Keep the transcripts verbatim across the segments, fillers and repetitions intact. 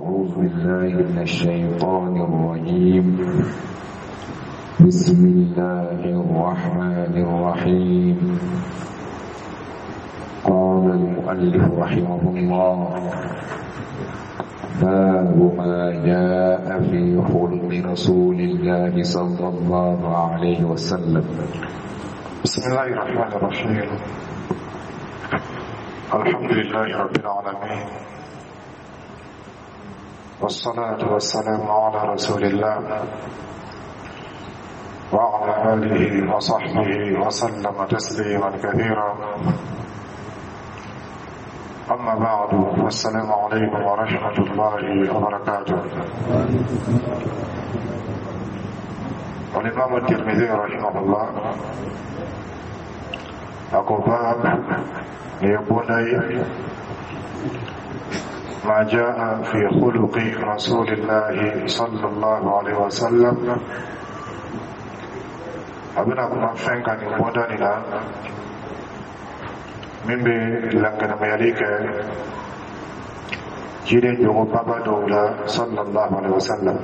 أعوذ بالله من الشيطان الرجيم. بسم الله الرحمن الرحيم. قال المؤلف رحمه الله: باب ما جاء في خلق رسول الله صلى الله عليه وسلم. بسم الله الرحمن الرحيم. الحمد لله رب العالمين، والصلاة والسلام على رسول الله وعلى آله وصحبه وسلم تسليما كثيرا. أما بعد، والسلام عليكم ورحمة الله وبركاته. والإمام الترمذي رحمه الله a ko: باب ليبني ما جاء في خلق رسول الله صلى الله عليه وسلم. A bɛna kuma fɛn kan nin bɔda nin na min bɛ lankɛnɛmayali kɛ ciden jogo baba dɔw la صلى الله عليه وسلم.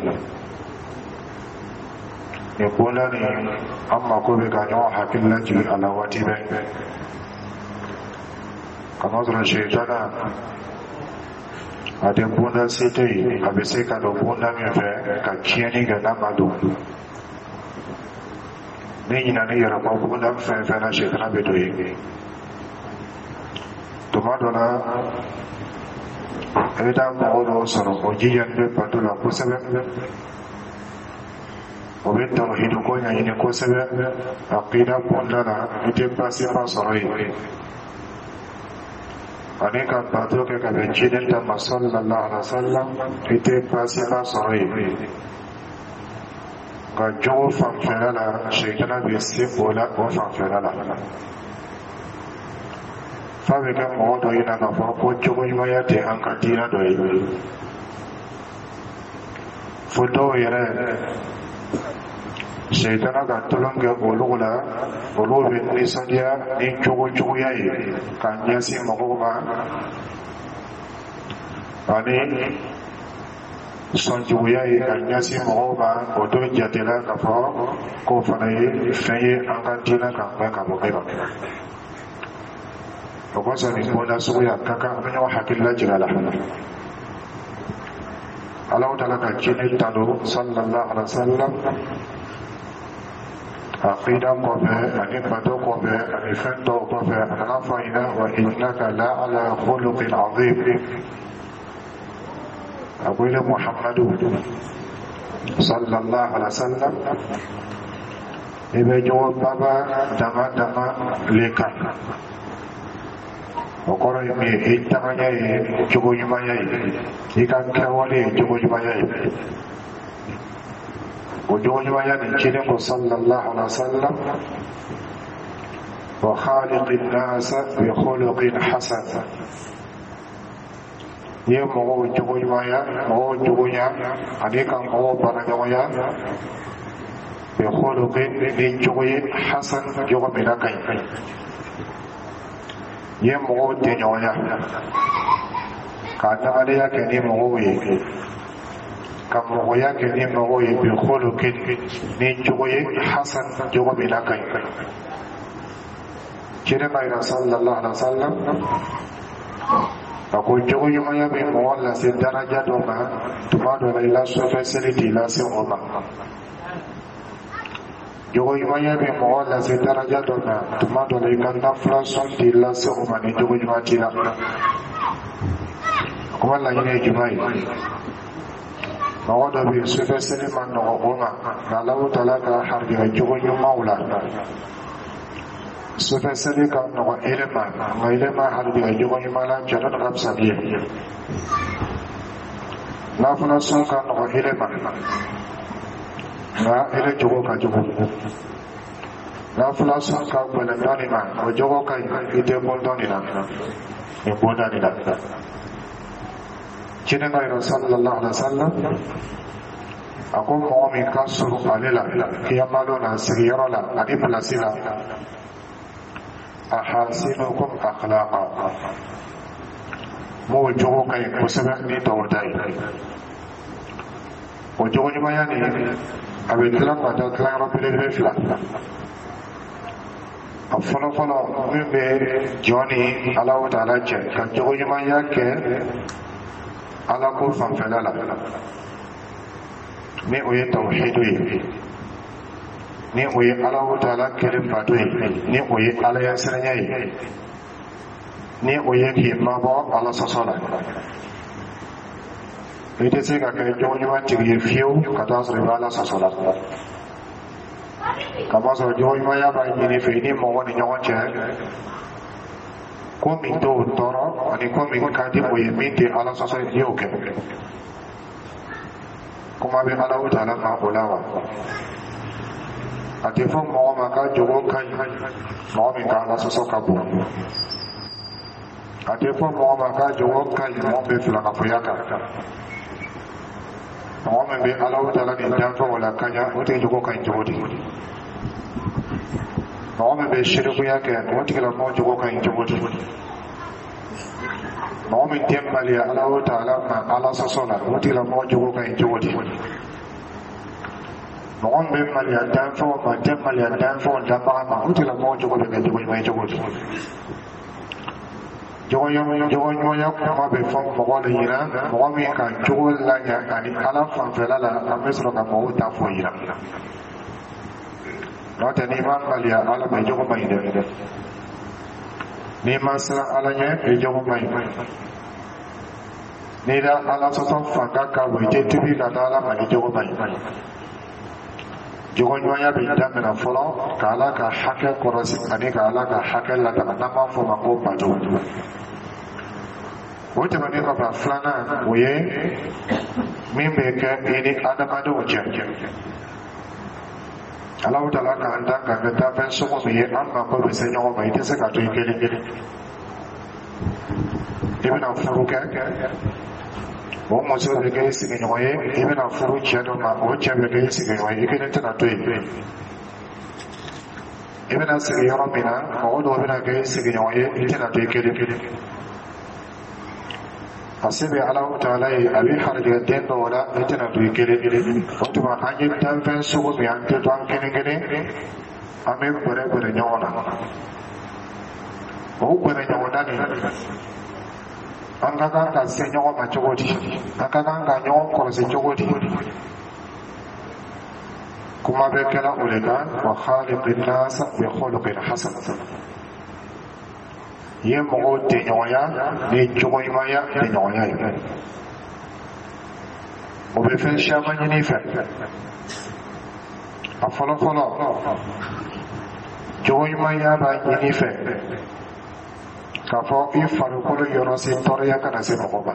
Nin bonda nin, an mako bɛ ka ɲɔgɔn hakili lajigin a la waati bɛɛ, kamasɔrɔ sitana a tɛ bonda se tɛ yen a bɛ se ka don bonda min fɛ ka tiɲɛni kɛ n'a ma don. Ni ɲinani yɛrɛ kɔ bonda fɛn fɛn na, sitana bɛ don yen. Tuma dɔ la, i bɛ taa mɔgɔ dɔw sɔrɔ, o jijani bɛ bato la kosɛbɛ, o bɛ tawhidu ko ɲɛɲini kosɛbɛ, aqida bonda la i tɛ baasiba sɔrɔ yen, ani ka bato kɛ ka bɛn ciden ta ma صلى الله عليه وسلم, i tɛ baasiba sɔrɔ yen. Nka jogo fanfɛla la, sitana bɛ se o la. O fanfɛla la, f'a bɛ kɛ mɔgɔ dɔ ɲɛna k'a fɔ ko jogo ɲumanya tɛ an ka diinɛ dɔ ye, fo dɔw yɛrɛ sitana ka tulon kɛ olu la. Olu bɛ nisɔndiya ni jogo juguya ye ka ɲɛsin mɔgɔw ma, ani sɔnjuguya ye ka ɲɛsin mɔgɔw ma. O t'o jatela k'a fɔ k'o fana ye fɛn ye an ka diinɛ kan gbɛn ka bɔ min ma. O kosɔn, nin bonda suguya ka kan an bɛ ɲɔgɔn hakili lajigin a la. Alahu taala ka ciden tanu صلى الله عليه وسلم, aqida kɔfɛ ani bato kɔfɛ ani fɛn tɔw kɔfɛ, a nana fɔ a ɲɛna: وإنك لعلى خلق عظيم. A ko: ile Muhammadu صلى الله عليه وسلم, i bɛ jogo baba dama dama le kan. O kɔrɔ ye min ye? I tagaɲɛ ye jogo ɲumanya ye, i ka kɛwale ye jogo ɲumanya ye. O jogo ɲumanya nin, ciden ko صلى الله عليه وسلم: وخالق الناس بخلق حسن. I ye mɔgɔw jogo ɲumanya, mɔgɔw jogonya, ani ka mɔgɔw baaraɲɔgɔnya, بخلق, ni jogo ye, حسن, jogo min na ka ɲi. I ye mɔgɔw tɛɲɔgɔnya ka adamadenya kɛ ni mɔgɔw ye, ka mɔgɔya kɛ ni mɔgɔw ye, بخلق, ni jogo ye, حسن, jogo min na ka ɲi. Ciden b'a yira صلى الله عليه وسلم, a ko jogo ɲumanya bɛ mɔgɔ lase daraja dɔ ma. Tuma dɔ la, i la sɔfɛ seli t'i lase o ma. Jogo ɲumanya bɛ mɔgɔ lase daraja dɔ ma. Tuma dɔ la, i ka nafila sɔn t'i lase o ma ni jogo ɲuman t'i la. Kuma laɲini ye jumɛn ye? Mɔgɔ dɔ bɛ yen, sufɛ seli ma nɔgɔ o ma, nka Alahu taala ka harijɛgɛ jogo ɲumanw la, sufɛ seli ka nɔgɔ ele ma, nka ele ma harijɛgɛ jogo ɲuman la, cɛ dɔ ka fisa n'i ye. Nafila sɔn ka nɔgɔ ele ma, nka ele jogo ka jugu. Nafila sɔn ka gɛlɛn dɔɔnin ma, o jogo ka ɲi, i tɛ bɔ dɔɔnin na nin bonda nin na. Ciden ka yɛrɛ صلى الله عليه وسلم, a ko mɔgɔ min ka surun ale la kiyama don na, sigiyɔrɔ la ani pilasi la, أحاسنكم أخلاقا, M'o jogo ka ɲi kosɛbɛ ni tɔw ta ye. O jogo ɲumanya nin, a bɛ dilan ka taa tilayɔrɔ belebele fila. A fɔlɔ fɔlɔ, min bɛ jɔn ni Alahu Taala cɛ, ka jogo ɲumanya kɛ Ala ko fanfɛla la, ni o ye tawhidu ye, ni o ye Alahu Taala kelen bato ye, ni o ye Ala ɲɛsiranya ye, ni o ye k'i mabɔ Ala sɔsɔ la. I tɛ se ka kɛ jogo ɲuman tigi ye fiyewu ka taa sɔrɔ i bɛ Ala sɔsɔ la, kamasɔrɔ jogo ɲumanya b'a ɲini fɛ i ni mɔgɔ ni ɲɔgɔn cɛ, ko min t'o tɔɔrɔ ani ko min ka di o ye, min tɛ Ala sɔsɔ ye, n'i y'o kɛ, kuma bɛ Alahu Taala ma o la wa. A tɛ fɔ mɔgɔ ma k'a jogo ka ɲi, mɔgɔ min ka Ala sɔsɔ ka bon. A tɛ fɔ mɔgɔ ma k'a jogo ka ɲi, mɔgɔ min bɛ filankafoya kan. Mɔgɔ min bɛ Alahu Taala ni danfɛnw la kaɲa, o tigi jogo ka ɲi cogo di? Mɔgɔ min bɛ sirikuya kɛ, o tigilamɔgɔ jogo ka ɲi cogo di? Mɔgɔ min tɛ maliya Alahu Taala ma Ala sɔsɔ la, o tigilamɔgɔ jogo ka ɲi cogo di? Mɔgɔ min bɛ maliya danfɛnw ma, tɛ maliya danfɛnw danbaga ma, o tigilamɔgɔ jogo bɛ kɛ jogo ɲuman ye cogo di? Jogo ɲumanya kuma bɛ fɔ mɔgɔ de ɲɛna, mɔgɔ min ka jogo laɲa ani Ala fanfɛla la, an bɛ sɔrɔ ka mɔgɔw ta fɔ yira. N'o tɛ, n'i ma maliya Ala ma, i jogo man ɲi dɛ. N'i ma siran Ala ɲɛ, i jogo man ɲi. N'i da Ala sɔsɔ fanga ka bon, i tɛ tubi ka da Ala ma, i jogo man ɲi. Jogo ɲumanya bɛ daminɛ fɔlɔ ka Ala ka hakɛ kɔrɔsi ani ka Ala ka hakɛ lataga, n'an b'a fɔ o ma ko bato. O tɛmɛnen kɔfɛ, a filanan, o ye min bɛ kɛ i ni adamadenw cɛ. Alahu Taala k'an dan ka kɛ danfɛn sugu min ye, an mako bɛ se ɲɔgɔn ma. I tɛ se ka to i kelen kelen. I bɛna furu kɛ, o muso bɛ kɛ i sigiɲɔgɔn ye. I bɛna furu cɛ dɔ ma, o cɛ bɛ kɛ i sigiɲɔgɔn ye. I kelen tɛna to yen. I bɛna sigi yɔrɔ min na, mɔgɔ dɔw bɛna kɛ i sigiɲɔgɔn ye. I tɛna to i kelen kelen. A se bɛ Alahu Taala ye, a bɛ harijɛgɛ den dɔw la, i tɛna to i kelen kelen. O tuma, an ye danfɛn sugu min, an tɛ to an kelen kelen, an bɛ gbɛrɛ gbɛrɛ ɲɔgɔn na. O gbɛrɛ ɲɔgɔn na nin, an ka kan ka se ɲɔgɔn ma cogo di? An ka kan ka ɲɔgɔn kɔlɔsi cogo di? Kuma bɛ kɛla o de kan: wa khaliqin nasa bi khuluqin hasan. I ye mɔgɔw tɛɲɔgɔnya ni jogo ɲumanya tɛɲɔgɔnya ye. O bɛ fɛn caman ɲini i fɛ. A fɔlɔ fɔlɔ, jogo ɲumanya b'a ɲini i fɛ k'a fɔ i farikolo yɔrɔ si tɔɔrɔya kana se mɔgɔ ma.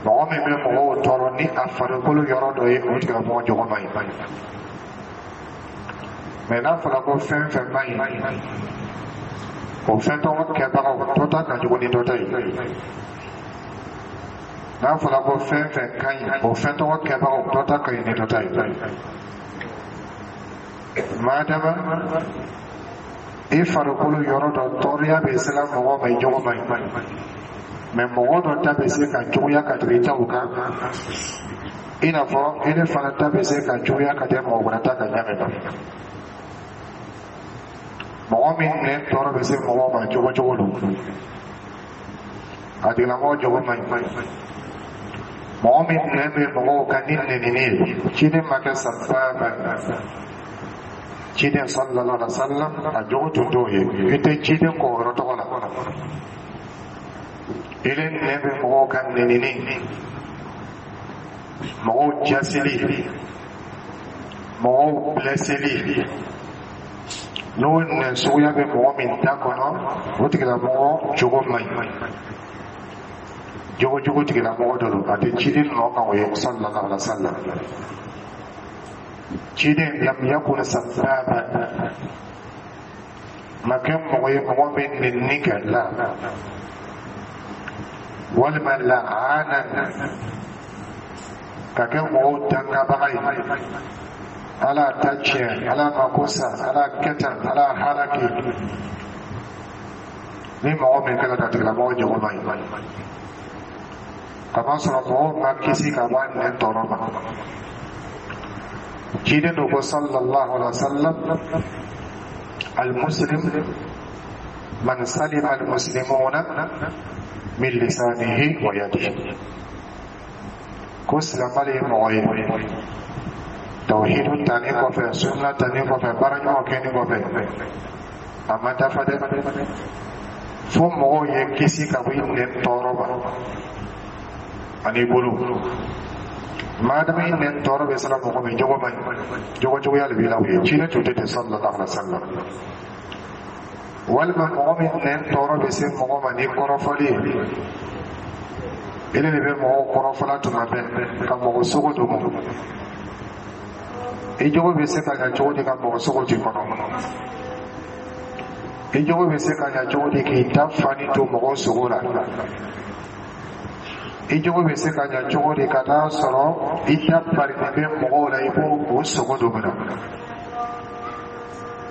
Mɔgɔ min bɛ mɔgɔw tɔɔrɔ ni a farikolo yɔrɔ dɔ ye, o tigilamɔgɔ jogo man ɲi. Mɛ n'a fɔra ko fɛn fɛn man ɲi, o fɛn tɔgɔ kɛbagaw, dɔ ta ka jugu ni dɔ ta ye. N'a fɔra ko fɛn fɛn ka ɲi, o fɛn tɔgɔ kɛbagaw, dɔ ta ka ɲi ni dɔ ta ye. Madama i farikolo yɔrɔ dɔ tɔɔrɔya bɛ sela mɔgɔ ma, i jogo man ɲi. Mɛ mɔgɔ dɔ ta bɛ se ka juguya ka tɛmɛ i taw kan, i n'a fɔ i ne fana ta bɛ se ka juguya ka tɛmɛ mɔgɔ wɛrɛ ta kan ɲa min na. Mɔgɔ min nɛn tɔɔrɔ bɛ se mɔgɔw ma cogo cogo don, a tigilamɔgɔ jogo man ɲi. Mɔgɔ min nɛn bɛ mɔgɔw kan ni nɛnini ye, ciden ma kɛ sababa. Ciden sallallahu alaihi wa sallam, a jogo tun t'o ye. I tɛ ciden kɔ yɔrɔ tɔgɔ la. Ile nɛn bɛ mɔgɔw kan nɛnini, mɔgɔw jasili, mɔgɔw blesseli, n'o nɛn suguya bɛ mɔgɔ min da kɔnɔ, o tigilamɔgɔ jogo man ɲi. Jogo jugu tigilamɔgɔ dɔ don, a tɛ ciden nɔ kan o ye sallallahu alaihi wa sallam. Ciden lam yakun sababa, ma kɛ mɔgɔ ye mɔgɔ min nɛnini kɛ la, walima laana ka kɛ mɔgɔw dangabaga ye. Ala ta tiɲɛ, Ala mako sa, Ala kɛ tan, Ala halaki. Ni mɔgɔ min kɛra a tigilamɔgɔ jogo man ɲi, kamasɔrɔ mɔgɔw ma kisi ka bɔ a nɛn tɔɔrɔ ma. Ciden do ko sallallahu alaihi wa sallam: المسلم من سلم المسلمون من لسانه ويده. Ko silamɛ ye mɔgɔ ye, tawhidu tani kɔfɛ, sunna tani kɔfɛ, baara ɲumanw kɛni kɔfɛ, a ma dafa dɛ, fo mɔgɔw ye kisi ka bɔ i nɛn tɔɔrɔ ma ani bolo. Maadama i nɛn tɔɔrɔ bɛ sira mɔgɔ min jogo man ɲi, jogo juguya de b'i la, o ye ciden tun tɛ ten sallallahu alaihi wa sallam. Walima mɔgɔ min nɛn tɔɔrɔ bɛ se mɔgɔ ma ni kɔrɔfɔli ye, ele de bɛ mɔgɔw kɔrɔfɔla tuma bɛɛ ka mɔgɔ sogo dogo. I jogo bɛ se ka ɲa cogo di ka mɔgɔ sogo t'i kɔnɔ? I jogo bɛ se ka ɲa cogo di k'i da fani to mɔgɔw sogo la? I jogo bɛ se ka ɲa cogo di ka taa sɔrɔ i da barinen bɛ mɔgɔw la, i b'o o sogo dogo na?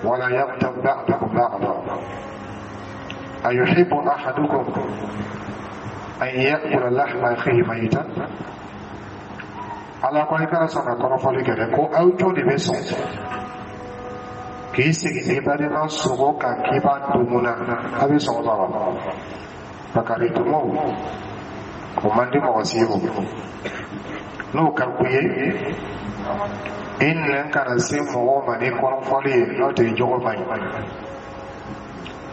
ولا يغتب بعضكم بعضا، أيحب أحدكم أن يأكل لحم أخيه ميتا؟ Ala ko i kana sɔn ka kɔrɔfɔli kɛ dɛ. Ko aw jɔn de bɛ sɔn k'i sigi n'i balima sogo kan k'i b'a dumu na? A bɛ sɔn o ma wa? Bakaritumaw, o man di mɔgɔ si ye. O n'o ka ku ye, i nɛn kana se mɔgɔw ma ni kɔrɔfɔli ye, n'o tɛ jogo man ɲi.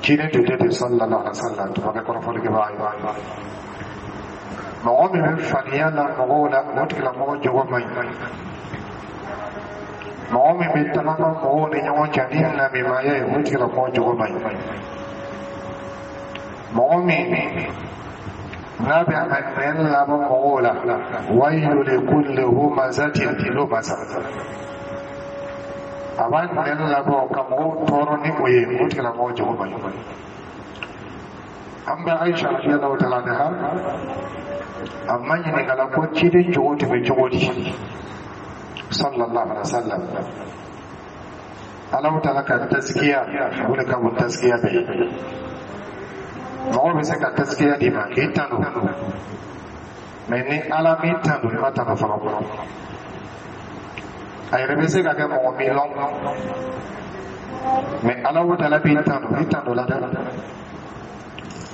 Ciden tun tɛ ten sallallahu alaihi wa sallam, tun ma kɛ kɔrɔfɔlikɛbaga ye. Mɔgɔ min bɛ faniya la mɔgɔw la, o tigilamɔgɔ jogo man ɲi. Mɔgɔ min bɛ tagama mɔgɔw ni ɲɔgɔn cɛ ni namimaya ye, o tigilamɔgɔ jogo man ɲi. Mɔgɔ min n'a bɛ a nɛn labɔ mɔgɔw la, ويل لكل همزة لمزة, a b'a nɛn labɔ ka mɔgɔw tɔɔrɔ ni o ye, o tigilamɔgɔ jogo man ɲi. An bɛ Aisha radiyallahu ta'ala anha, a ma ɲininka la ko ciden jogo tun bɛ cogo di sallallahu alaihi wa sallam. Alahu ta'ala ka taskiya, o de ka bon taskiya bɛɛ ye. Mɔgɔ bɛ se ka taskiya d'i ma k'i tanu, mɛ ni Ala m'i tanu, i ma tanu fɔlɔ. A yɛrɛ bɛ se ka kɛ mɔgɔ min lɔn, mɛ Alahu ta'ala b'i tanu, i tanu la dɛ.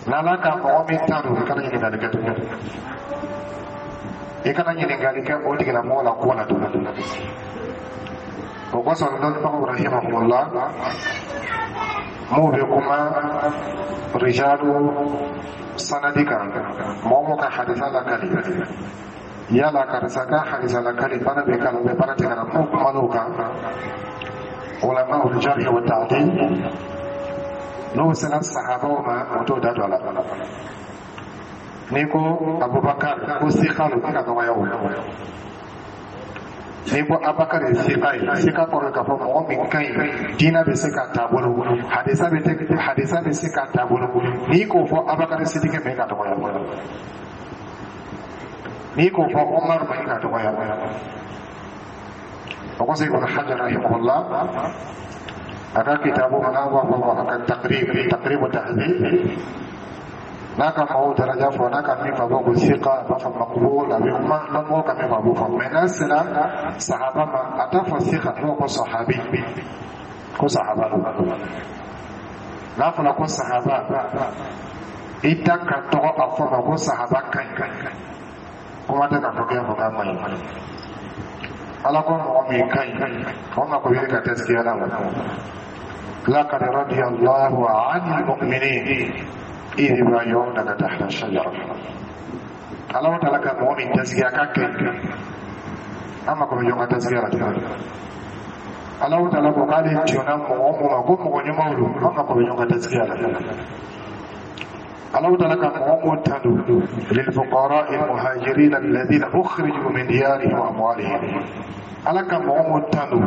N'Ala ka mɔgɔ min tanu, i kana ɲininkali kɛ tuguni, i kana ɲininkali kɛ o tigilamɔgɔ la ko la tuguni. O kosɔn dɔnnibagaw rahimahumullah m'u bɛ kuma rijalu sanadi kan, mɔgɔ mɔgɔ ka hadisa lakali, yala karisa ka hadisa lakali baara bɛ k'a la ou bien baara tɛ k'a la, m'u kuman'o kan, ulama al-jarh wa ta'dil, n'o sera sahabaw ma, o t'o da don a la. N'i ko Abubakar ko sika lo, i ka dɔgɔya o. N'i ko Abubakar ye sika ye, sika kɔrɔ ye k'a fɔ mɔgɔ min ka ɲi, diinɛ bɛ se k'a taabolo, hadisa bɛ hadisa bɛ se k'a taabolo. N'i k'o fɔ Abubakar Sidiki ma, i ka dɔgɔya. N'i k'o fɔ Umar ma, i ka dɔgɔya. O kosɔn Ibn Hajar rahimahullah, a ka kitabu n'a b'a fɔ a ka Taqrib, Taqrib Tahdhib, n'a ka mɔgɔw daraja fɔ, n'a ka min fɔ, a b'a fɔ ko sika, a b'a fɔ maqbul, a bɛ kuma lamɔgɔw ka min fɔ, a b'o fɔ. Mɛ n'a sera sahaba ma, a t'a fɔ sika, a b'a fɔ ko sahabi, ko sahaba don. N'a fɔra ko sahaba, i da ka tɔgɔ a fɔ ma ko sahaba ka ɲi, kuma tɛ k'a fɔ k'e fɔ k'a man ɲi. Ala ko mɔgɔ min ka ɲi, o mako bɛ ka taskiya la wa. لقد رضي الله عن المؤمنين إذ يبايعونك تحت الشجرة. Ala ta'ala ka mɔgɔ min taskiya k'a kɛ, an mako bɛ ɲɔgɔn ka taskiya la. Ala ta'ala ko k'ale jɔnna mɔgɔ o ma ko mɔgɔ ɲumanw don, an mako bɛ ɲɔgɔn ka taskiya la. Ala ta'ala ka mɔgɔ mun tanu, للفقراء المهاجرين الذين أخرجوا من ديارهم وأموالهم, Ala ka mɔgɔ mun tanu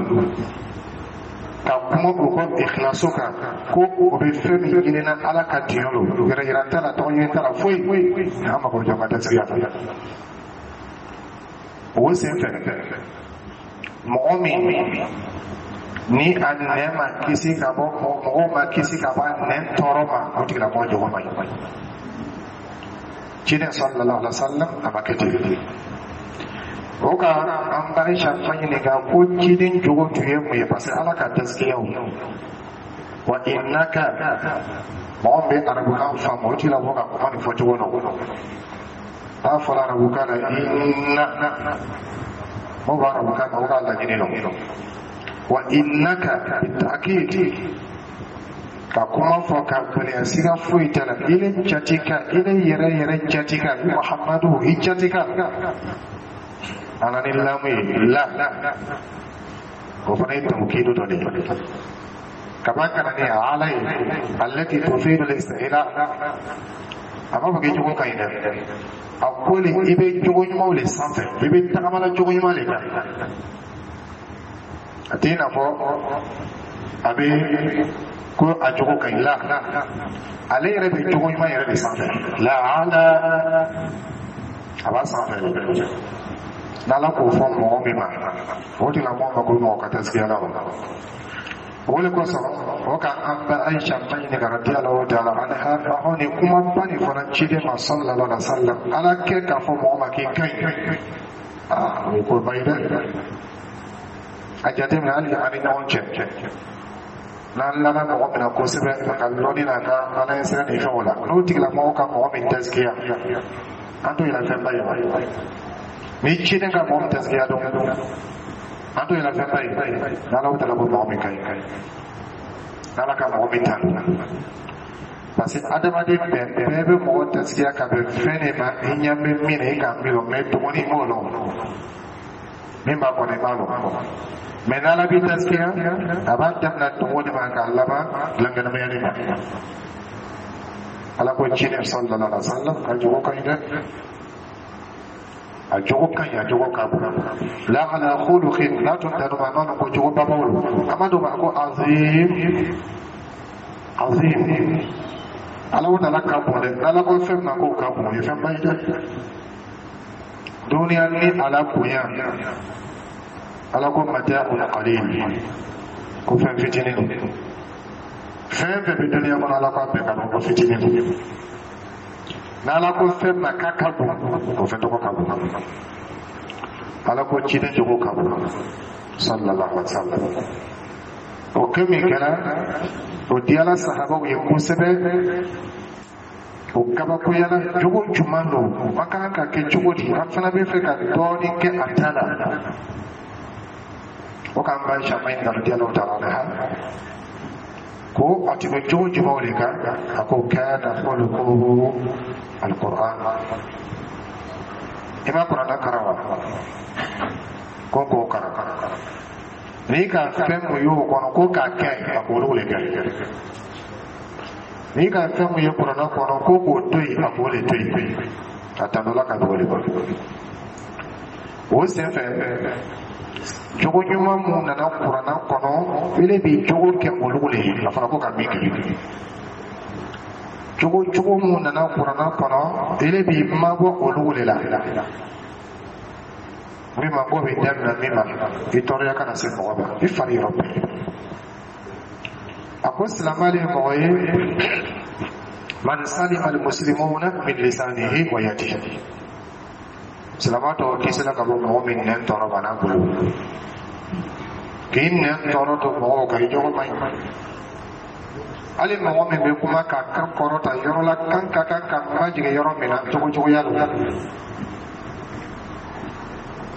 ka kuma u ka ikhlasu kan, ko o bɛ fɛn min ɲinina Ala ka diɲɛ lo, yɛrɛ yira t'a la, tɔgɔ ɲini t'a la, foyi, an mako bɛ jɔ ka taskiya la. O sen fɛ, mɔgɔ min Ni a nɛn ma kisi ka bɔ, mɔgɔw ma kisi ka bɔ a nɛn tɔɔrɔ ma, o tigilamɔgɔ jogo man ɲi. Ciden sallallahu alaihi wa sallam a ma kɛ ten. O ka an ba Aisha ma ɲininka ko ciden jogo tun ye mun ye, parce que Ala ka taskiyaw wa innaka. Mɔgɔ min bɛ arabukan faamu, o tigilamɔgɔ ka kuma nin fɔcogo nɔ n'a fɔra arabukan na inna, mɔgɔ b'a arabukan na, o k'a laɲini nɔ wa innaka bitakid ka kuma fɔ ka gɛlɛya, siga foyi t'a la. Ile jati ka ile yɛrɛ yɛrɛ jati ka i Muhammadu i jati ka ala ni lamu ye la, o fana ye tawkidu dɔ de ye kaba kana ni ala ye allati tufidu al-istila. A b'a fɔ k'i jogo ka ɲi dɛ, a ko le i bɛ jogo ɲumanw le sanfɛ, i bɛ tagamala jogo ɲuman le kan. A t'i n'a fɔ a bɛ ko a jogo ka ɲi la, ale yɛrɛ bɛ jogo ɲuman yɛrɛ de sanfɛ la, ala a b'a sanfɛ de. N'Ala k'o fɔ mɔgɔ min ma, o tigilamɔgɔ ma ko mɔgɔ ka taskiya la. O de kosɔn o ka an ba Aisha ma ɲininka radiyallahu ta'ala anha, ɔhɔn, nin kumaba nin fana ciden ma sallallahu alaihi wa sallam, Ala kɛ k'a fɔ mɔgɔ ma k'i ka ɲi, aa, o ye koba ye dɛ. A jateminɛ hali an ni ɲɔgɔn cɛ, n'an lana mɔgɔ min na kosɛbɛ a ka lɔnni n'a ka Ala ɲɛ sira ni fɛnw la, n'o tigilamɔgɔ ka mɔgɔ min taskiya, an t'o yɛrɛ fɛnba ye wa? Ni ciden ka mɔgɔ min taskiya dɔn, an t'o yɛrɛ fɛnba ye. N'Ala taala ko mɔgɔ min ka ɲi, n'Ala ka mɔgɔ min tanu, parce que adamaden bɛɛ bɛɛ bɛ mɔgɔ taskiya ka bɛn fɛn de ma. I ɲɛ bɛ min na, i k'a miiri o, mɛ dɔgɔnin i m'o lɔn, min b'a kɔnɔ i b'a lɔn. Mɛ n'Ala b'i taskiya, a b'a daminɛ dogo de ma k'a laban dilankɛnɛmaya de ma. Ala ko ciden sallallahu alaihi wa sallam ka jogo ka ɲi dɛ, a jogo ka ɲi, a jogo ka bon. La ala khuluqin n'a tun tanu ma a ma ko jogo babaw lo, a ma don ma ko azim azim. Ala ko tala ka bon dɛ. N'Ala ko fɛn ma k'o ka bon, o ye fɛnba ye dɛ. Duniya ni Ala bonya, Ala ko mata'un qalil, ko fɛn fitinin don. Fɛn fɛn bɛ duniya kɔnɔ, Ala ko a bɛɛ ka bon, ko fitinin don. N'Ala ko fɛn ma k'a ka bon, o fɛn tɔgɔ ka bon. Ala ko ciden jogo ka bon sallallahu alaihi wa sallam. O kɛ min kɛra, o diyala sahabaw ye kosɛbɛ, o kabakoyala. Jogo jumɛn don? An ka kan ka kɛ cogo di? An fana bɛ fɛ ka dɔɔnin kɛ a ta la. O k'an ba Aisha ma ɲininka radiyallahu ta'ala anha ko a tun bɛ jogo jumɛnw de kan. A ko kana khuluquhu alquran. I ma Kuranɛ karan wa? Ko k'o karan, n'i ka fɛn mun y'o kɔnɔ ko k'a kɛ, a k'olu de kɛ. N'i ka fɛn mun ye Kuranɛ kɔnɔ ko k'o to yen, a k'o de to yen. A tandola ka bɔ o de kɔnɔ. O senfɛ, jogo ɲuman mun nana Kuranɛ kɔnɔ, ele b'i jogo kɛ olu de ye. A fɔra ko ka min kɛ, jogo jogo mun nana Kuranɛ kɔnɔ, ele b'i mabɔ olu de la. Min ma ko bɛ daminɛ min ma, i tɔɔrɔya kana se mɔgɔ ma i fari yɔrɔ bɛɛ. A ko silamɛ ye mɔgɔ ye man salima almuslimuna min lisanihi wa yadihi. Silamɛ tɔw kisila ka bɔ mɔgɔ min nɛn tɔɔrɔ ma n'a bolo. K'i nɛn tɔɔrɔ to mɔgɔw kan, i jogo man ɲi. Hali mɔgɔ min bɛ kuma k'a kan kɔrɔta yɔrɔ la, kan ka kan ka majigin yɔrɔ min na, cogo cogoya don.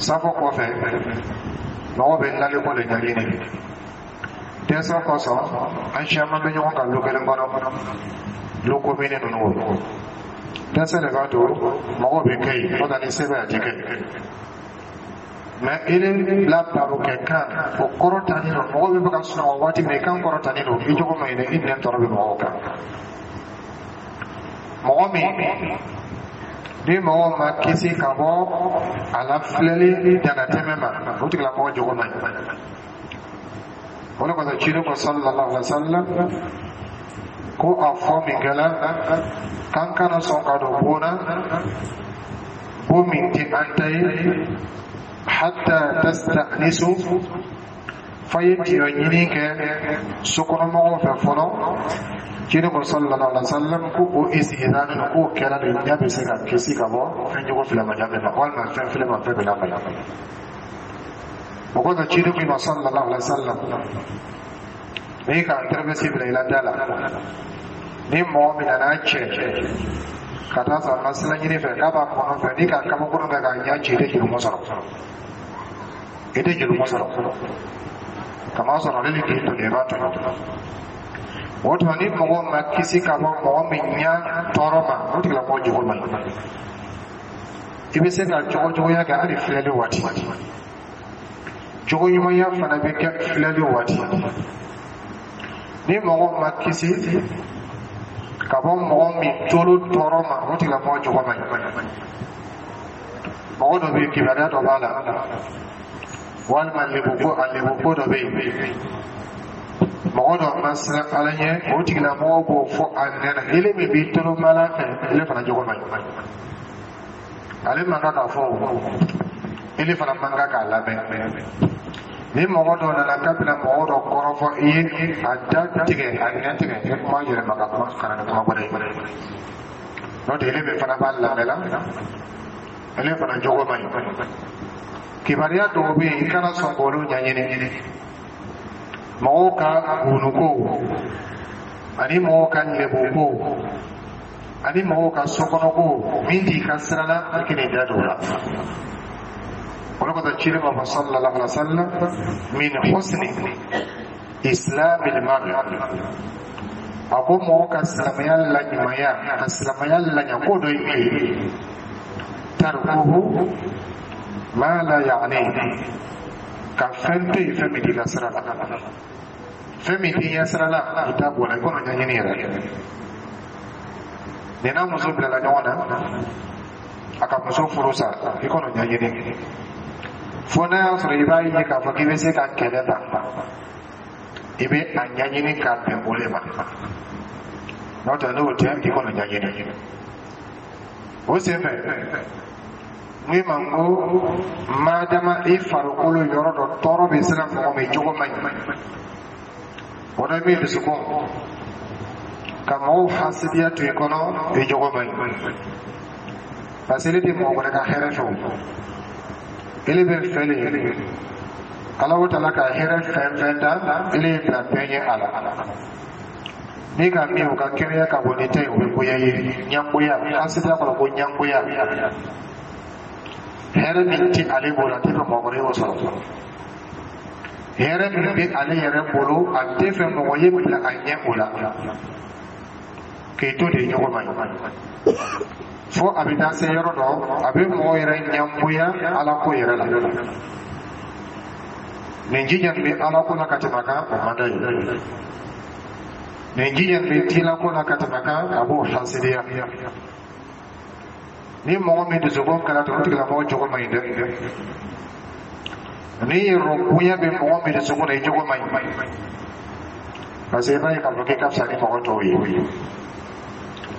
Safo kɔfɛ, mɔgɔ bɛ naliko de ɲɛɲini. Dɛsɛ kosɔn, an siyaman bɛ ɲɔgɔn kan lu kelen kɔnɔ, lu komini ninnu. Dɛsɛ de b'a to mɔgɔw bɛ kɛ yen, n'o tɛ ni se bɛ, a ti kɛ. Mɛ i la baro kɛ kan o kɔrɔtalen don, mɔgɔw bɛ fɛ ka sunɔgɔ waati min na, i kan kɔrɔtalen don, i jogo ma ɲi dɛ, i nɛn tɔɔrɔ bɛ mɔgɔw kan. Mɔgɔ min ni mɔgɔ ma kisi ka bɔ a la filɛli danatɛmɛ ma, o tigilamɔgɔ jogo man ɲi. O de kosɔn ciden ko sallallahu alaihi wa sallam ko a fɔ min kɛla k'an kana sɔn ka don bon na, bon min tɛ an ta ye, hatta tasta'nisu. F'a ye tiɲɛ ɲini kɛ sokɔnɔmɔgɔw fɛ fɔlɔ. Ciden ko sallallahu alaihi wa sallam ko o istizan k'o kɛra de, ɲɛ bɛ se ka kisi ka bɔ fɛn jugu filamanya min ma, walima fɛn filɛ ma, fɛn bɛ lamaya. O kɔfɛ, ciden ko i ma sallallahu alaihi wa sallam, n'i ka tɛrɛmɛsi bila i la da la, ni mɔgɔ min nana cɛ ka taa sɔrɔ ma sira ɲini fɛ k'a b'a kɔnɔ fɛ, n'i ka kabakuru kɛ k'a ɲɛ ci, i tɛ jurumu sɔrɔ, i tɛ jurumu sɔrɔ, kama sɔrɔ ale de k'i toli, i b'a tɔɲɔ. O tuma, ni mɔgɔ ma kisi ka bɔ mɔgɔ min ɲɛ tɔɔrɔ ma, o tigilamɔgɔ jogo man ɲi. I bɛ se ka jogo juguya kɛ hali filɛli waati, jogo ɲumanya fana bɛ kɛ filɛli waati. Ni mɔgɔ ma kisi ka bɔ mɔgɔ min tolo tɔɔrɔ ma, o tigilamɔgɔ jogo man ɲi. Mɔgɔ dɔ bɛ yen, kibaruya dɔ b'a la, walima lebuko, a lebuko dɔ bɛ yen, mɔgɔ dɔ ma siran Ala ɲɛ, o tigilamɔgɔ b'o fɔ a nɛn na. Ele min b'i tolo mala fɛ, ele fana jogo man ɲi. Ale man kan k'a fɔ o, ele fana man kan k'a lamɛn. Ni mɔgɔ dɔ nana k'a bɛna mɔgɔ dɔ kɔrɔfɔ i ye, a da tigɛ, a nɛn tigɛ, i kuma yɛlɛma ka kuma ka na ni kuma wɛrɛ ye. N'o tɛ, ele min fana b'a lamɛn la, ele fana jogo man ɲi. Kibaruya dɔw bɛ yen, i kana sɔn k'olu ɲɛɲini. Mɔgɔw ka gunuko ani mɔgɔw ka lɛbuko ani mɔgɔw ka sokɔnɔko min t'i ka sira la, i kan'i da don o la. O de kosɔn ciden ma fɔ sallallahu alaihi wa sallam: min husni islamil mar'i, a ko mɔgɔ ka silamɛya laɲumanya, ka silamɛya laɲa, ko dɔ ye min ye: tarkuhu ma la ya'ni, ka fɛn to yen, fɛn min t'i ka sira la, fɛn min t'i ɲɛ sira la, i t'a bɔ la, i kɔnɔ ɲɛɲini yɛrɛ. Nin n'a muso bilala ɲɔgɔn na, a ka muso furu sa, i kɔnɔ ɲɛɲini, fo n'a y'a sɔrɔ i b'a ye k'a fɔ k'i bɛ se ka kɛlɛ ta, i bɛ a ɲɛɲini k'a bɛn o de ma. N'o tɛ, n'o tɛ, i kɔnɔ ɲɛɲini. O senfɛ, n ko ma n ko madama i farikolo yɔrɔ dɔ tɔɔrɔ bɛ se ka mɔgɔ min jogo man ɲi, o dɔ bɛ dusukun ka mɔgɔw hasidiya to i kɔnɔ, i jogo man ɲi, parce que ele tɛ mɔgɔ wɛrɛ ka hɛrɛ fɛ. O ele bɛ fɛ de Ala o tala ka hɛrɛ fɛn fɛn da ele ye bila bɛɛ ɲɛ a la. N'i ka min o ka kɛnɛya ka bon ni ta ye, o bɛ goya ye. Ɲangoya, hasidiya kɔrɔ ko ɲangoya. Hɛrɛ min ti ale bolo, a tɛ fɛ mɔgɔ wɛrɛ y'o sɔrɔ. Hɛrɛ min bɛ ale yɛrɛ bolo, a tɛ fɛ mɔgɔ ye bila a ɲɛ o la. K'i to de ɲɔgɔn ma ɲi, fo a bɛ taa se yɔrɔ dɔ, a bɛ mɔgɔ yɛrɛ ɲɛngoya Ala ko yɛrɛ la. Nin jija nin bɛ Ala ko la ka tɛmɛ a kan, o man d'a ye. Nin jija nin bɛ diinɛ ko la ka tɛmɛ a kan, a b'o hasidiya. Ni mɔgɔ min dusukun kɛra ten, o tigilamɔgɔ jogo man ɲi dɛ. Ni yɛrɛ bonya bɛ mɔgɔ min dusukun na, i jogo man ɲi, parce que i b'a ye k'a fɔ k'i ka fisa ni mɔgɔ tɔw ye,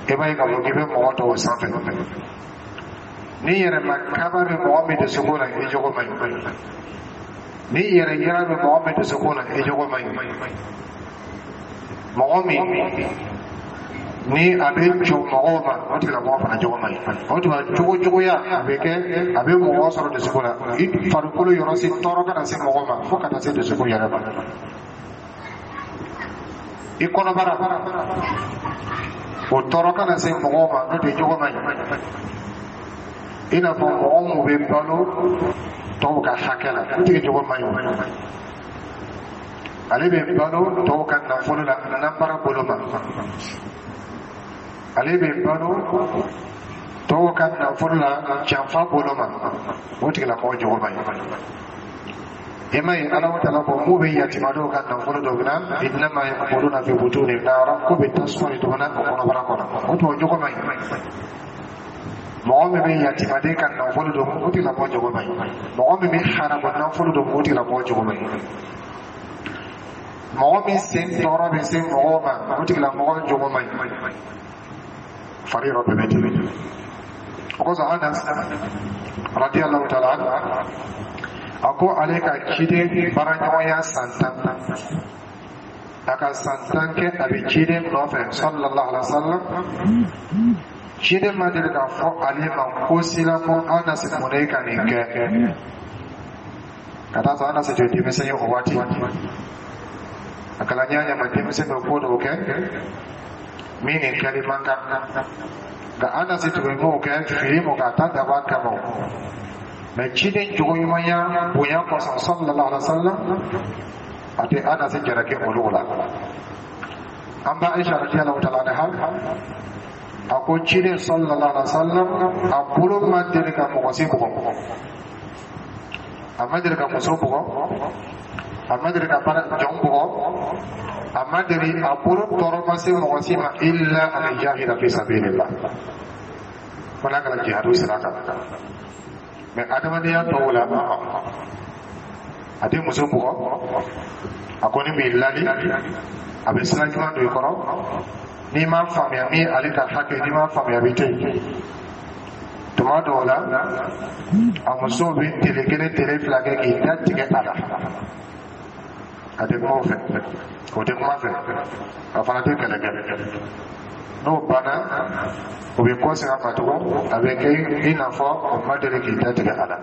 i b'a ye k'a fɔ k'i bɛ mɔgɔ tɔw sanfɛ. Ni yɛrɛma kaba bɛ mɔgɔ min dusukun na, i jogo man ɲi. Ni yɛrɛ yira bɛ mɔgɔ min dusukun na, i jogo man ɲi. Mɔgɔ min ni a bɛ jɔ mɔgɔw ma, o tigilamɔgɔ fana jogo man ɲi. O tuma, jogo juguya a bɛ kɛ, a bɛ mɔgɔ sɔrɔ dusukun na. I farikolo yɔrɔ si tɔɔrɔ kana se mɔgɔ ma, fo ka taa se dusukun yɛrɛ ma. I kɔnɔbara o tɔɔrɔ kana se mɔgɔw ma, n'o tɛ, jogo man ɲi. I n'a fɔ mɔgɔ mun bɛ balo tɔw ka hakɛ la, o tigi jogo man ɲi. Ale bɛ balo tɔw ka nafolo la, nanbara bolo ma. Ale bɛ balo tɔw ka nafolo la, janfa bolo ma. O tigilamɔgɔ jogo man ɲi. I ma ye, Ala taala ko mun bɛ yatimadenw ka nafolo dɔ bɛna: innama yakuluna fi butunihim nara, ko bɛ tasuma de donna o kɔnɔbara kɔnɔ. O tuma, jogo man ɲi. Mɔgɔ min bɛ yatimaden ka nafolo dɔn, o tigilamɔgɔ jogo man ɲi. Mɔgɔ min bɛ haramu nafolo dɔn, o tigilamɔgɔ jogo man ɲi. Mɔgɔ min sen tɔɔrɔ bɛ se mɔgɔw ma, o tigilamɔgɔ jogo man ɲi. Fari yɔrɔ bɛɛ bɛ ten. O kosɔn, Anas radiyallahu ta'ala anhu A ko ale ka ciden baaraɲɔgɔnya san tan, a ka san tan kɛ a bɛ ciden nɔfɛ sallallahu alaihi wa sallam, ciden ma deli k'a fɔ ale ma ko si la ko Anasi, mun na e ka nin kɛ? Ka taa sɔrɔ Anasi tun ye denmisɛn ye o waati. A kɛla ɲɛ ɲɛ ma, denmisɛn bɛ ko dɔw kɛ min nin kɛli man kan, nka Anasi tun bɛ m'o kɛ fili mɔ k'a ta dabɔ a kama. Mɛ ciden jogo ɲumanya bonya kosɔn sallallahu alaihi wa sallam, a tɛ Anasi jalaki olu la. An ba Aisha radiyallahu ta'ala anha a ko ciden sallallahu alaihi wa sallam a bolo ma deli ka mɔgɔ si bugɔ, a ma deli ka muso bugɔ, a ma deli ka baara jɔn bugɔ, a ma deli a bolo tɔɔrɔ ma se mɔgɔ si ma illa an yujahida fi sabilillah, fo n'a kɛra jihadu sira kan. Mɛ adamadenya tɔw la, a tɛ muso bugɔ, a kɔni b'i lali, a bɛ sira ɲuman don i kɔrɔ. N'i m'a faamuya min ale ka hakɛ, n'i m'a faamuya, a bɛ to yen. Tuma dɔw la, a musow bɛ tele kelen, tele fila kɛ k'i da tigɛ a la. A tɛ kuma o fɛ, o tɛ kuma fɛ, a fana tɛ kɛlɛ kɛ. N'o banna, o bɛ kɔsegin a ma tugun, a bɛ kɛ i n'a fɔ o ma deli k'i da tigɛ a la.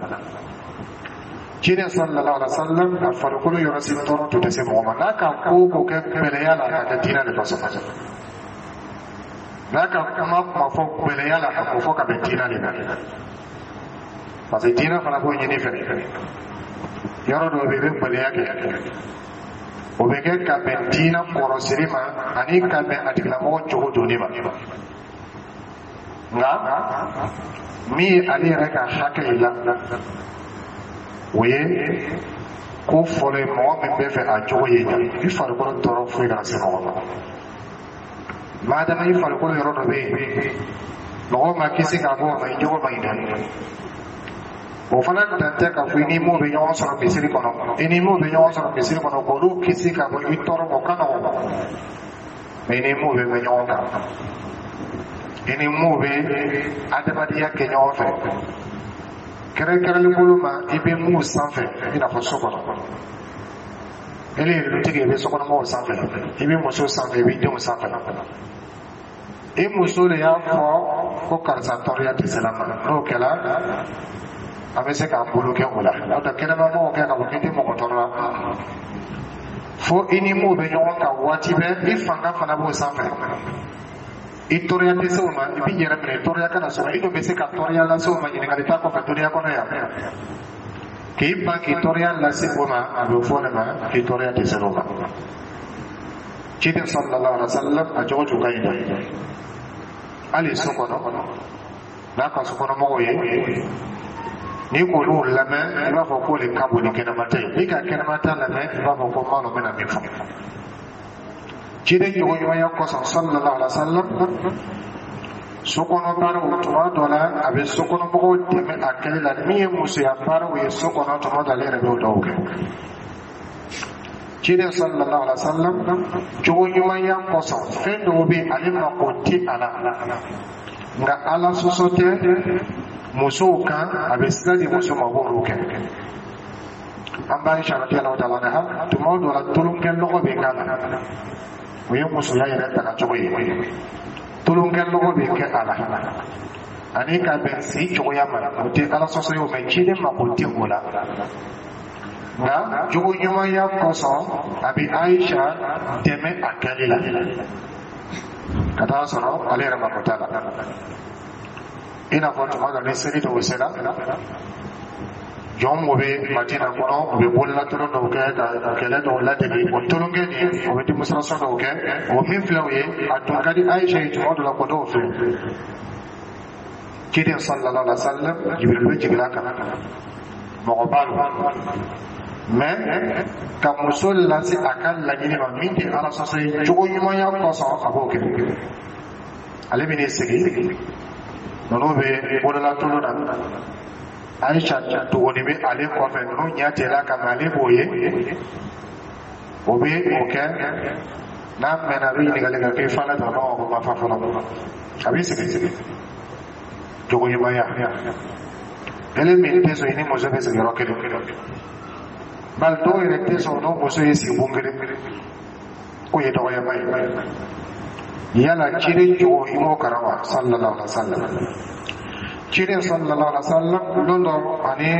Ciden sallallahu alaihi wa sallam a farikolo yɔrɔ si tɔɔrɔ tun tɛ se mɔgɔ ma. N'a ka ko o ko kɛ gbɛlɛya la, a ka kɛ diinɛ de kosɔn. N'a ka kuma kuma fɔ gbɛlɛya la, a k'o fɔ ka bɛn diinɛ de ma, parce que diinɛ fana b'o ɲini fɛ. Yɔrɔ dɔw bɛ yen, i bɛ gbɛlɛya kɛ, o bɛ kɛ ka bɛn diinɛ kɔrɔsiri ma ani ka bɛn a tigilamɔgɔ cogo donni ma. Nka min ye ale yɛrɛ ka hakɛ ye la, o ye ko fɔlɔ ye. Mɔgɔ min bɛ fɛ a cogo ye ɲa, i farikolo tɔɔrɔ foyi kana se mɔgɔ ma. Madama i farikolo yɔrɔ dɔ bɛ yen, mɔgɔw ma kisi k'a bɔ o ma, i jogo ma ɲi dɛ. O fana dan tɛ k'a fɔ i ni mun bɛ ɲɔgɔn sɔrɔ misiri kɔnɔ, i ni mun bɛ ɲɔgɔn sɔrɔ misiri kɔnɔ, k'olu kisi ka bɔ i tɔɔrɔ ma, o ka nɔgɔn. Mɛ i ni mun bɛ mɛn ɲɔgɔn kan, i ni mun bɛ adamadenya kɛ ɲɔgɔn fɛ, kɛrɛnkɛrɛnlen bolo ma, i bɛ mun sanfɛ, i n'a fɔ so kɔnɔ, ele ye dutigi, i bɛ sokɔnɔmɔgɔw sanfɛ, i bɛ muso sanfɛ, i bɛ denw sanfɛ. I muso de y'a fɔ ko karisa tɔɔrɔya tɛ se la ma, n'o kɛra, an bɛ se k'an bolo kɛ o la. N'o tɛ, kɛnɛmamɔgɔw kɛ k'a fɔ k'i tɛ mɔgɔ tɔɔrɔ la, fo i ni mun bɛ ɲɔgɔn kan waati bɛɛ, i fanga fana b'o sanfɛ, i tɔɔrɔya tɛ se o ma, i b'i yɛrɛ minɛ tɔɔrɔya kana sɔrɔ. I dun bɛ se ka tɔɔrɔya lase o ma, ɲininkali t'a kɔfɛ duniya kɔnɔ yan. K'i ban k'i tɔɔrɔya lase o ma, a bɛ fɔ ne ma k'i tɔɔrɔya tɛ se o ma. Ciden sallallahu alaihi wa sallam a jogo tun ka ɲi dɛ. Hali so kɔnɔ, n'a ka sokɔnɔmɔgɔw ye, n'i k'olu lamɛn, i b'a fɔ k'o de ka bon ni kɛnɛmata ye. N'i ka kɛnɛmata lamɛn, i b'a fɔ ko maa dɔ bɛna min fɔ. Ciden jogoɲumanya kosɔn sallallahu alaihi wa sallam, sokɔnɔ baaraw, tuma dɔ la a bɛ sokɔnɔmɔgɔw dɛmɛ a kɛli la. Min ye musoya baaraw ye so kɔnɔ, tuma dɔ ale yɛrɛ b'o dɔw kɛ. Ciden sallallahu alaihi wa sallam jogo ɲumanya kosɔn, fɛn dɔw bɛ yen, ale mako tɛ a la, nka Ala sɔsɔ tɛ musow kan, a bɛ sira di muso ma, b'olu kɛ. An b'a Aisha radiyallahu ta'ala anha, tuma dɔ la tolonkɛ lɔgɔ bɛ k'a la, o ye musoya yɛrɛ taga cogo ye. Tolonkɛ lɔgɔ bɛ kɛ a la ani ka bɛn si cogoya ma, o tɛ Ala sɔsɔ ye o, mɛ ciden mako tɛ o la. Nka jogo ɲumanya kosɔn, a bɛ Aisha dɛmɛ a kɛli la, ka taa sɔrɔ ale yɛrɛ mako t'a la. I n'a fɔ tuma dɔ ni seli dɔw sera, jɔn mun bɛ Madina kɔnɔ, u bɛ bololatolon dɔw kɛ ka kɛlɛ dɔw ladege. O tolonkɛ nin, o bɛ démonstration dɔw kɛ, o min filɛ o ye, a tun ka di Aisha ye tuma dɔ la ko dɔw filɛ. Ciden sallallahu alaihi wa sallam, Jibril bɛ jigin a kan, mɔgɔ b'a la, mɛ ka muso lase a ka laɲini ma min tɛ Ala sɔsɔ ye, jogo ɲumanya kosɔn a b'o kɛ. Ale bɛ n'i sigi, ninnu bɛ bololatolon na, Aisha dogoni bɛ ale kɔfɛ, ninnu ɲɛ tɛla ka mɛ, ale b'o ye, o bɛ o kɛ. N'a mɛnna, a bɛ ɲininkali kɛ k'i fa la dɔrɔn, ko ma fa fɔlɔ. A b'i sigi sigi, jogo ɲumanya. Ele min tɛ sɔn i ni muso bɛ sigi yɔrɔ kelen, bali dɔw yɛrɛ tɛ sɔn n'o muso ye sigi bon kelen k'o ye dɔgɔyama ye. Yala ciden jogo, i m'o kalan wa? Sallallahu alaihi wa sallam. Ciden sallallahu alaihi wa sallam, lon dɔ ani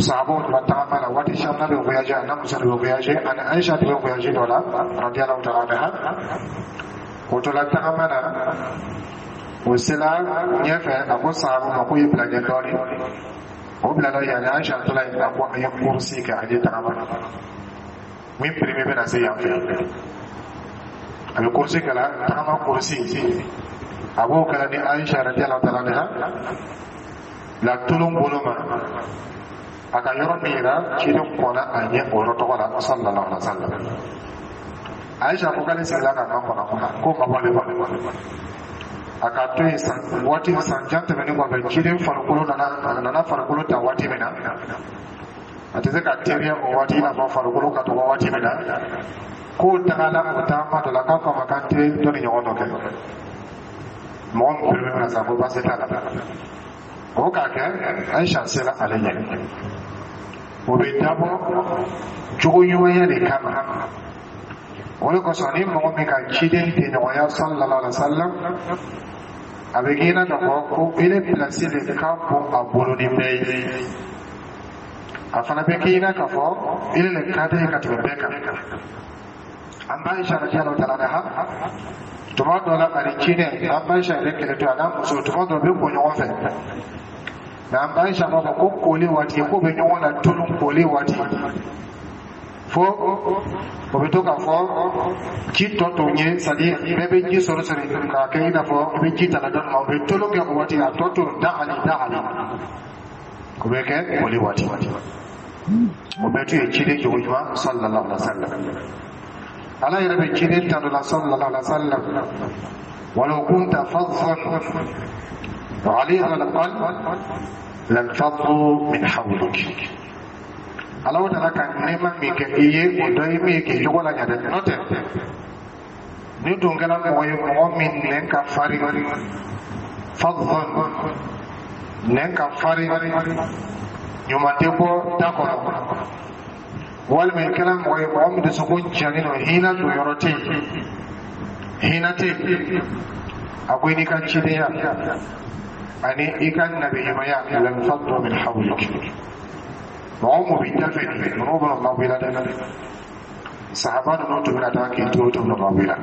sahabaw tora tagama la waati caman bɛ voyager, a n'a muso de bɛ voyager, ani Aisha de bɛ voyager dɔ la, radiyallahu ta'ala anha. O tora tagama na, o sela ɲɛfɛ, a ko sahabaw ma k'o ye bila ɲɛ dɔɔnin. O bilala yen, ani Aisha tola yen. A ko an ye course kɛ, an ye tagama min premier bɛna se yan fɛ. A bɛ course kɛ la, tagama course, a b'o kɛra ni Aisha radiyallahu ta'ala anha la tolon bolo ma. A ka yɔrɔ min yira, ciden kɔnna a ɲɛ o yɔrɔ tɔgɔ la, sallallahu alaihi wa sallam. Aisha ko k'ale sigila ka makɔnɔ, k'o ma bɔ ale ma. A ka to yen san waati san jan tɛmɛnen kɔfɛ, ciden farikolo nana, a nana farikolo ta waati min na, a tɛ se ka teriya o waati i n'a fɔ farikolo ka dɔgɔ waati min na. K'o tagala o taama dɔ la, k'a ko a ma k'an tɛ dɔ ni ɲɔgɔn dɔ kɛ, mɔgɔ min premier bɛna sa, ko baasi t'a la. O k'a kɛ, Aisha sera ale ɲɛ. O bɛ dabɔ jogo ɲumanya de kama. O de kosɔn, ni mɔgɔ min ka ciden tɛɲɔgɔnya, sallallahu alaihi wa sallam, a bɛ k'i n'a k'a fɔ ko ele pilasi de ka bon a bolo ni bɛɛ ye. A fana bɛ k'i n'a k'a fɔ ele le ka di ye ka tɛmɛ bɛɛ kan. An ba Aisha radiyallahu ta'ala anha, tuma dɔ la ani ciden, an ba Aisha yɛrɛ kɛlɛ to a n'a muso, tuma dɔ bɛ ko ɲɔgɔn fɛ. Nka an ba Aisha b'a fɔ ko koli waati, k'o bɛ ɲɔgɔn la tolon koli waati, fo o bɛ to k'a fɔ ji tɔ to ye, c'est à dire bɛɛ bɛ ji sɔrɔ sɔrɔ k'a kɛ i n'a fɔ i bɛ ji ta la dɔɔni ma, o bɛ tolon kɛ o waati, a tɔ to da ali da ali. O bɛ kɛ koli waati. O bɛɛ tun ye ciden jogo ɲuman, sallallahu alaihi wa sallam. Ala yɛrɛ bɛ ciden ta dɔ la, sallallahu alaihi wa sallam: walau kunta faddan غليظ القلب لانفضوا من حولك. Ala taala ka nɛɛma min kɛ i ye, o dɔ ye min ye k'i jogo la ɲɛ dɛ. N'o tɛ, ni dun kɛra mɔgɔ ye, mɔgɔ min nɛn ka farin, faddan, nɛn ka farin, ɲuman tɛ bɔ da kɔnɔ, walima i kɛra mɔgɔ ye, mɔgɔ min dusukun jalen don, hinɛ don yɔrɔ tɛ yen, hinɛ tɛ yen, a ko i n'i ka cidenya ani i ka nabiɲumanya, lanfaddu min hawlik. Mɔgɔ mun b'i da fɛ nin, ninnu bɛna mabɔ i la dɛ. Sahaba ninnu tun bɛna taa k'i to, tun bɛna mabɔ i la.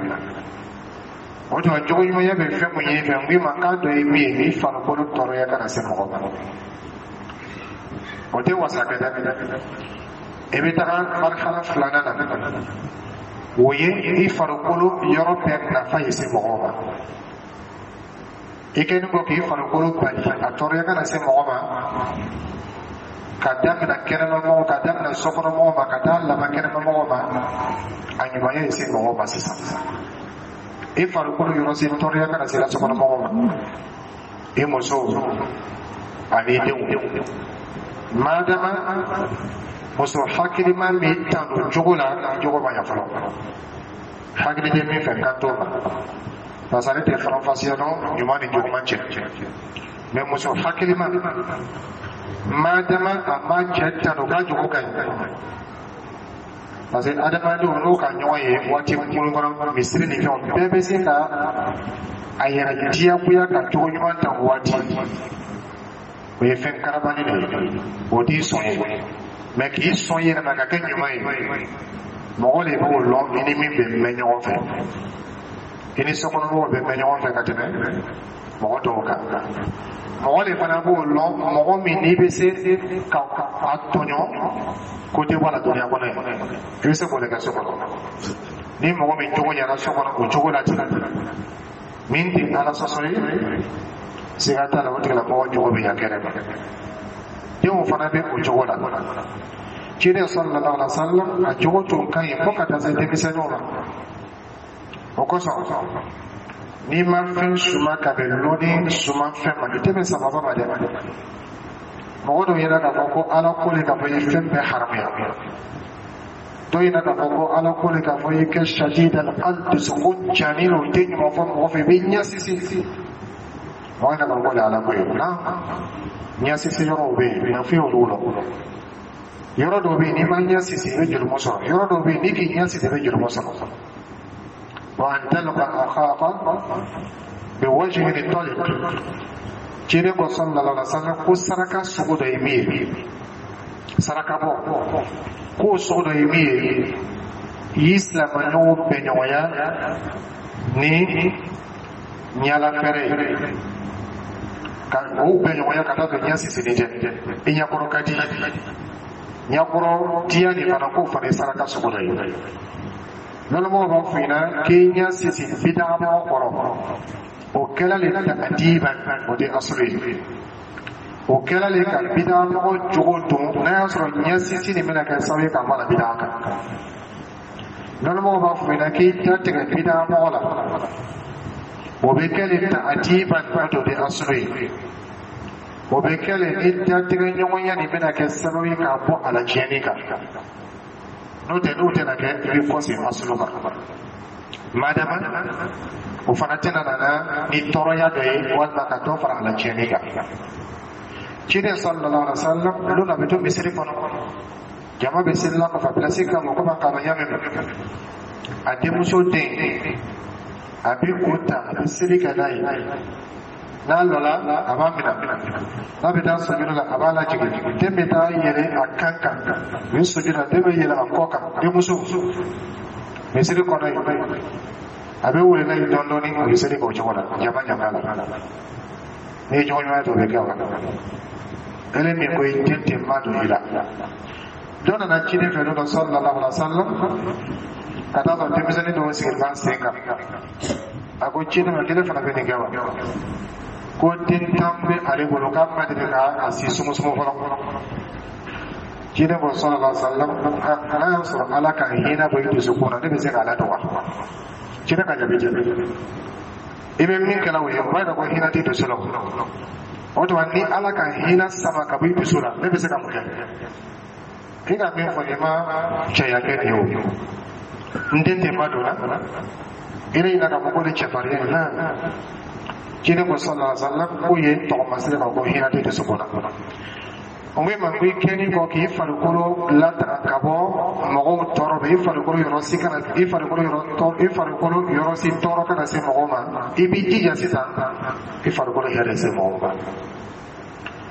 O tuma, jogo ɲumanya bɛ fɛn mun ye fɛn n k'i ma k'a dɔ ye min ye, i farikolo tɔɔrɔya kana se mɔgɔ ma, o tɛ wasa kɛ dɛ. I bɛ taga marhala filanan na, o ye i farikolo yɔrɔ bɛɛ nafa ye se mɔgɔw ma. I kɛlen kɔ k'i farikolo bali a tɔɔrɔya kana se mɔgɔ ma, ka daminɛ kɛnɛmamɔgɔ, ka daminɛ sokɔnɔmɔgɔ ma, ka taa laban kɛnɛmamɔgɔ ma, a ɲumanya ye se mɔgɔw ma. Sisan i farikolo yɔrɔ se tɔɔrɔya kana se la sokɔnɔmɔgɔ ma, i muso ani i denw. Madama muso hakilima min tanu jogo la, jogo ma ɲa fɔlɔ, hakili tɛ min fɛ kan t'o ma, parce que ale tɛ faranfasiya dɔn ɲuman ni juguman cɛ. Mais muso hakilima, madama a ma cɛ tanu k'a jogo ka ɲi, parce que adamadenw n'u ka ɲɔgɔn ye waati kunkurun kɔnɔ, misiri ni fɛnw bɛɛ bɛ se ka a yɛrɛ diyagoya ka cogo ɲuman ta o waati, o ye fɛn karabali de ye, o t'i sɔn ye. Mais k'i sɔn i yɛrɛ ma ka kɛ ɲuman ye, mɔgɔ de b'o lɔn i ni min bɛ mɛn ɲɔgɔn fɛ. I ni sokɔnɔmɔgɔw bɛ mɛn ɲɔgɔn fɛ ka tɛmɛ mɔgɔ dɔw kan. Mɔgɔ de fana b'o lɔn, mɔgɔ min n'i bɛ se ka a tɔɲɔ ko tɛ bɔ a la duniya kɔnɔ yen, i bɛ se k'o de kɛ so kɔnɔ. Ni mɔgɔ min jogo ɲɛna so kɔnɔ, o cogo la ten, min tɛ Ala sɔsɔ ye, siga t'a la, o tigilamɔgɔ jogo bɛ ɲa kɛnɛ ma. Denw fana bɛ o cogo la. Ciden sallallahu alaihi wa sallam, a jogo tun ka ɲi fo ka taa se denmisɛnninw ma. O kosɔn, n'i ma fɛn suma ka bɛn lɔnni suma fɛn ma, i tɛ bɛn sababa ma dɛ. Mɔgɔ dɔw ɲɛna k'a fɔ ko Ala ko le k'a fɔ i ye fɛn bɛɛ haramuya. Dɔw ɲɛna k'a fɔ ko Ala ko le k'a fɔ i kɛ shadid al dusukun janin, o tɛ ɲuman fɔ mɔgɔ fɛ, i bɛ ɲɛ sisi. Mɔgɔ yɛrɛ ka ko le Ala ko ye na ɲɛsisi yɔrɔw bɛ yen, na foyi olu la. Yɔrɔ dɔw bɛ yen, n'i ma ɲɛ sisi, i bɛ jurumu sɔrɔ. Yɔrɔ dɔw bɛ yen, n'i k'i ɲɛ sisi, i bɛ jurumu sɔrɔ. Wa an talqa akhaka biwajhin taliq. Ciden ko sallallahu alaihi wasallam ko saraka sugu dɔ ye min ye, saraka bɔ k'o sugu dɔ ye min ye, i y'i silamɛɲɔgɔn bɛn ɲɔgɔnya ni ɲala fɛrɛ ye, ka o bɛn ɲɔgɔnya ka taa don ɲɛ sisini tɛ, i ɲɛkɔrɔ ka di, ɲɛkɔrɔ diya nin fana, k'o fana ye saraka sugu dɔ ye. Lɔnnibaw b'a fɔ ɲɛna k'i ɲɛ sisi bidamɔgɔ kɔrɔ, o kɛla le ta'diban, o de asulu ye. O kɛla le ka bidamɔgɔ jogo dɔn, n'a y'a sɔrɔ ɲɛ sisi nin bɛna kɛ sababu ye ka bɔ a la bida kan. Lɔnnibaw b'a fɔ ɲɛna k'i da tigɛ bidamɔgɔ la, o bɛ kɛ le ta'diban, o de asulu ye. O bɛ kɛ le ni datigɛ ɲɔgɔnya nin bɛna kɛ sababu ye k'a bɔ a la tiɲɛni kan. N'o tɛ, n'o tɛna kɛ, i bɛ kɔsegin asulu kan, madama o fana tɛna nana ni tɔɔrɔya dɔ ye walima ka dɔ fara a la tiɲɛni kan. Ciden sallallahu alaihi wa sallam, don a bɛ to misiri kɔnɔ, jama bɛ selila kɔfɛ, pilasi kama komi a k'a ɲa min, a denmuso den, a bɛ o ta, a bɛ seli kɛ n'a ye. N'a lɔla, a b'a minɛ, n'a bɛ taa sujudu la, a b'a lajigin, den bɛ taa yɛlɛ a kan kan, u bɛ sujudu la, den bɛ yɛlɛ a kɔ kan. Denmuso misiri kɔnɔ yen, a bɛ wele n'a ye dɔɔni dɔɔni, a bɛ seli kɛ o cogo la jama jama la. N'i ye ɲɔgɔn ɲuman ye, o bɛ kɛ wa ele min ko i den tɛ ma don i la. Dɔ nana ciden fɛ don dɔ sallallahu alaihi wa sallam, ka taa sɔrɔ denmisɛnnin dɔw sigilen b'a sen kan. A ko ciden ma k'ele fana bɛ nin kɛ wa? Ko den tan bɛ ale bolo, k'a ma deli k'a si sumusumu fɔlɔ. Ciden ko sallallahu alaihi wa sallam, n'a y'a sɔrɔ Ala ka hinɛ bɔ i dusukun na, ne bɛ se k'a ladon wa? Ciden ka jaabi jaabi, i bɛ min kɛla o ye, o b'a yira ko hinɛ t'i dusu la. O tuma, ni Ala ka hinɛ sama ka bɔ i dusu la, ne bɛ se ka mun kɛ? I ka min fɔ, i ma cɛya kɛ nin ye. O n den tɛ ma don na i yɛrɛ yira k'a fɔ ko ni cɛfarinya ye la. Ciden ko sallallahu alaihi wa sallam k'o ye tɔgɔmasere ka ko hinɛ tɛ dusukun na. O ko i ma ko i kɛni kɔ k'i farikolo latanga ka bɔ mɔgɔw tɔɔrɔ ma, i farikolo yɔrɔ si kana i farikolo yɔrɔ tɔ i farikolo yɔrɔ si tɔɔrɔ kana se mɔgɔw ma, i b'i jija sisan i farikolo hɛrɛ se mɔgɔw ma.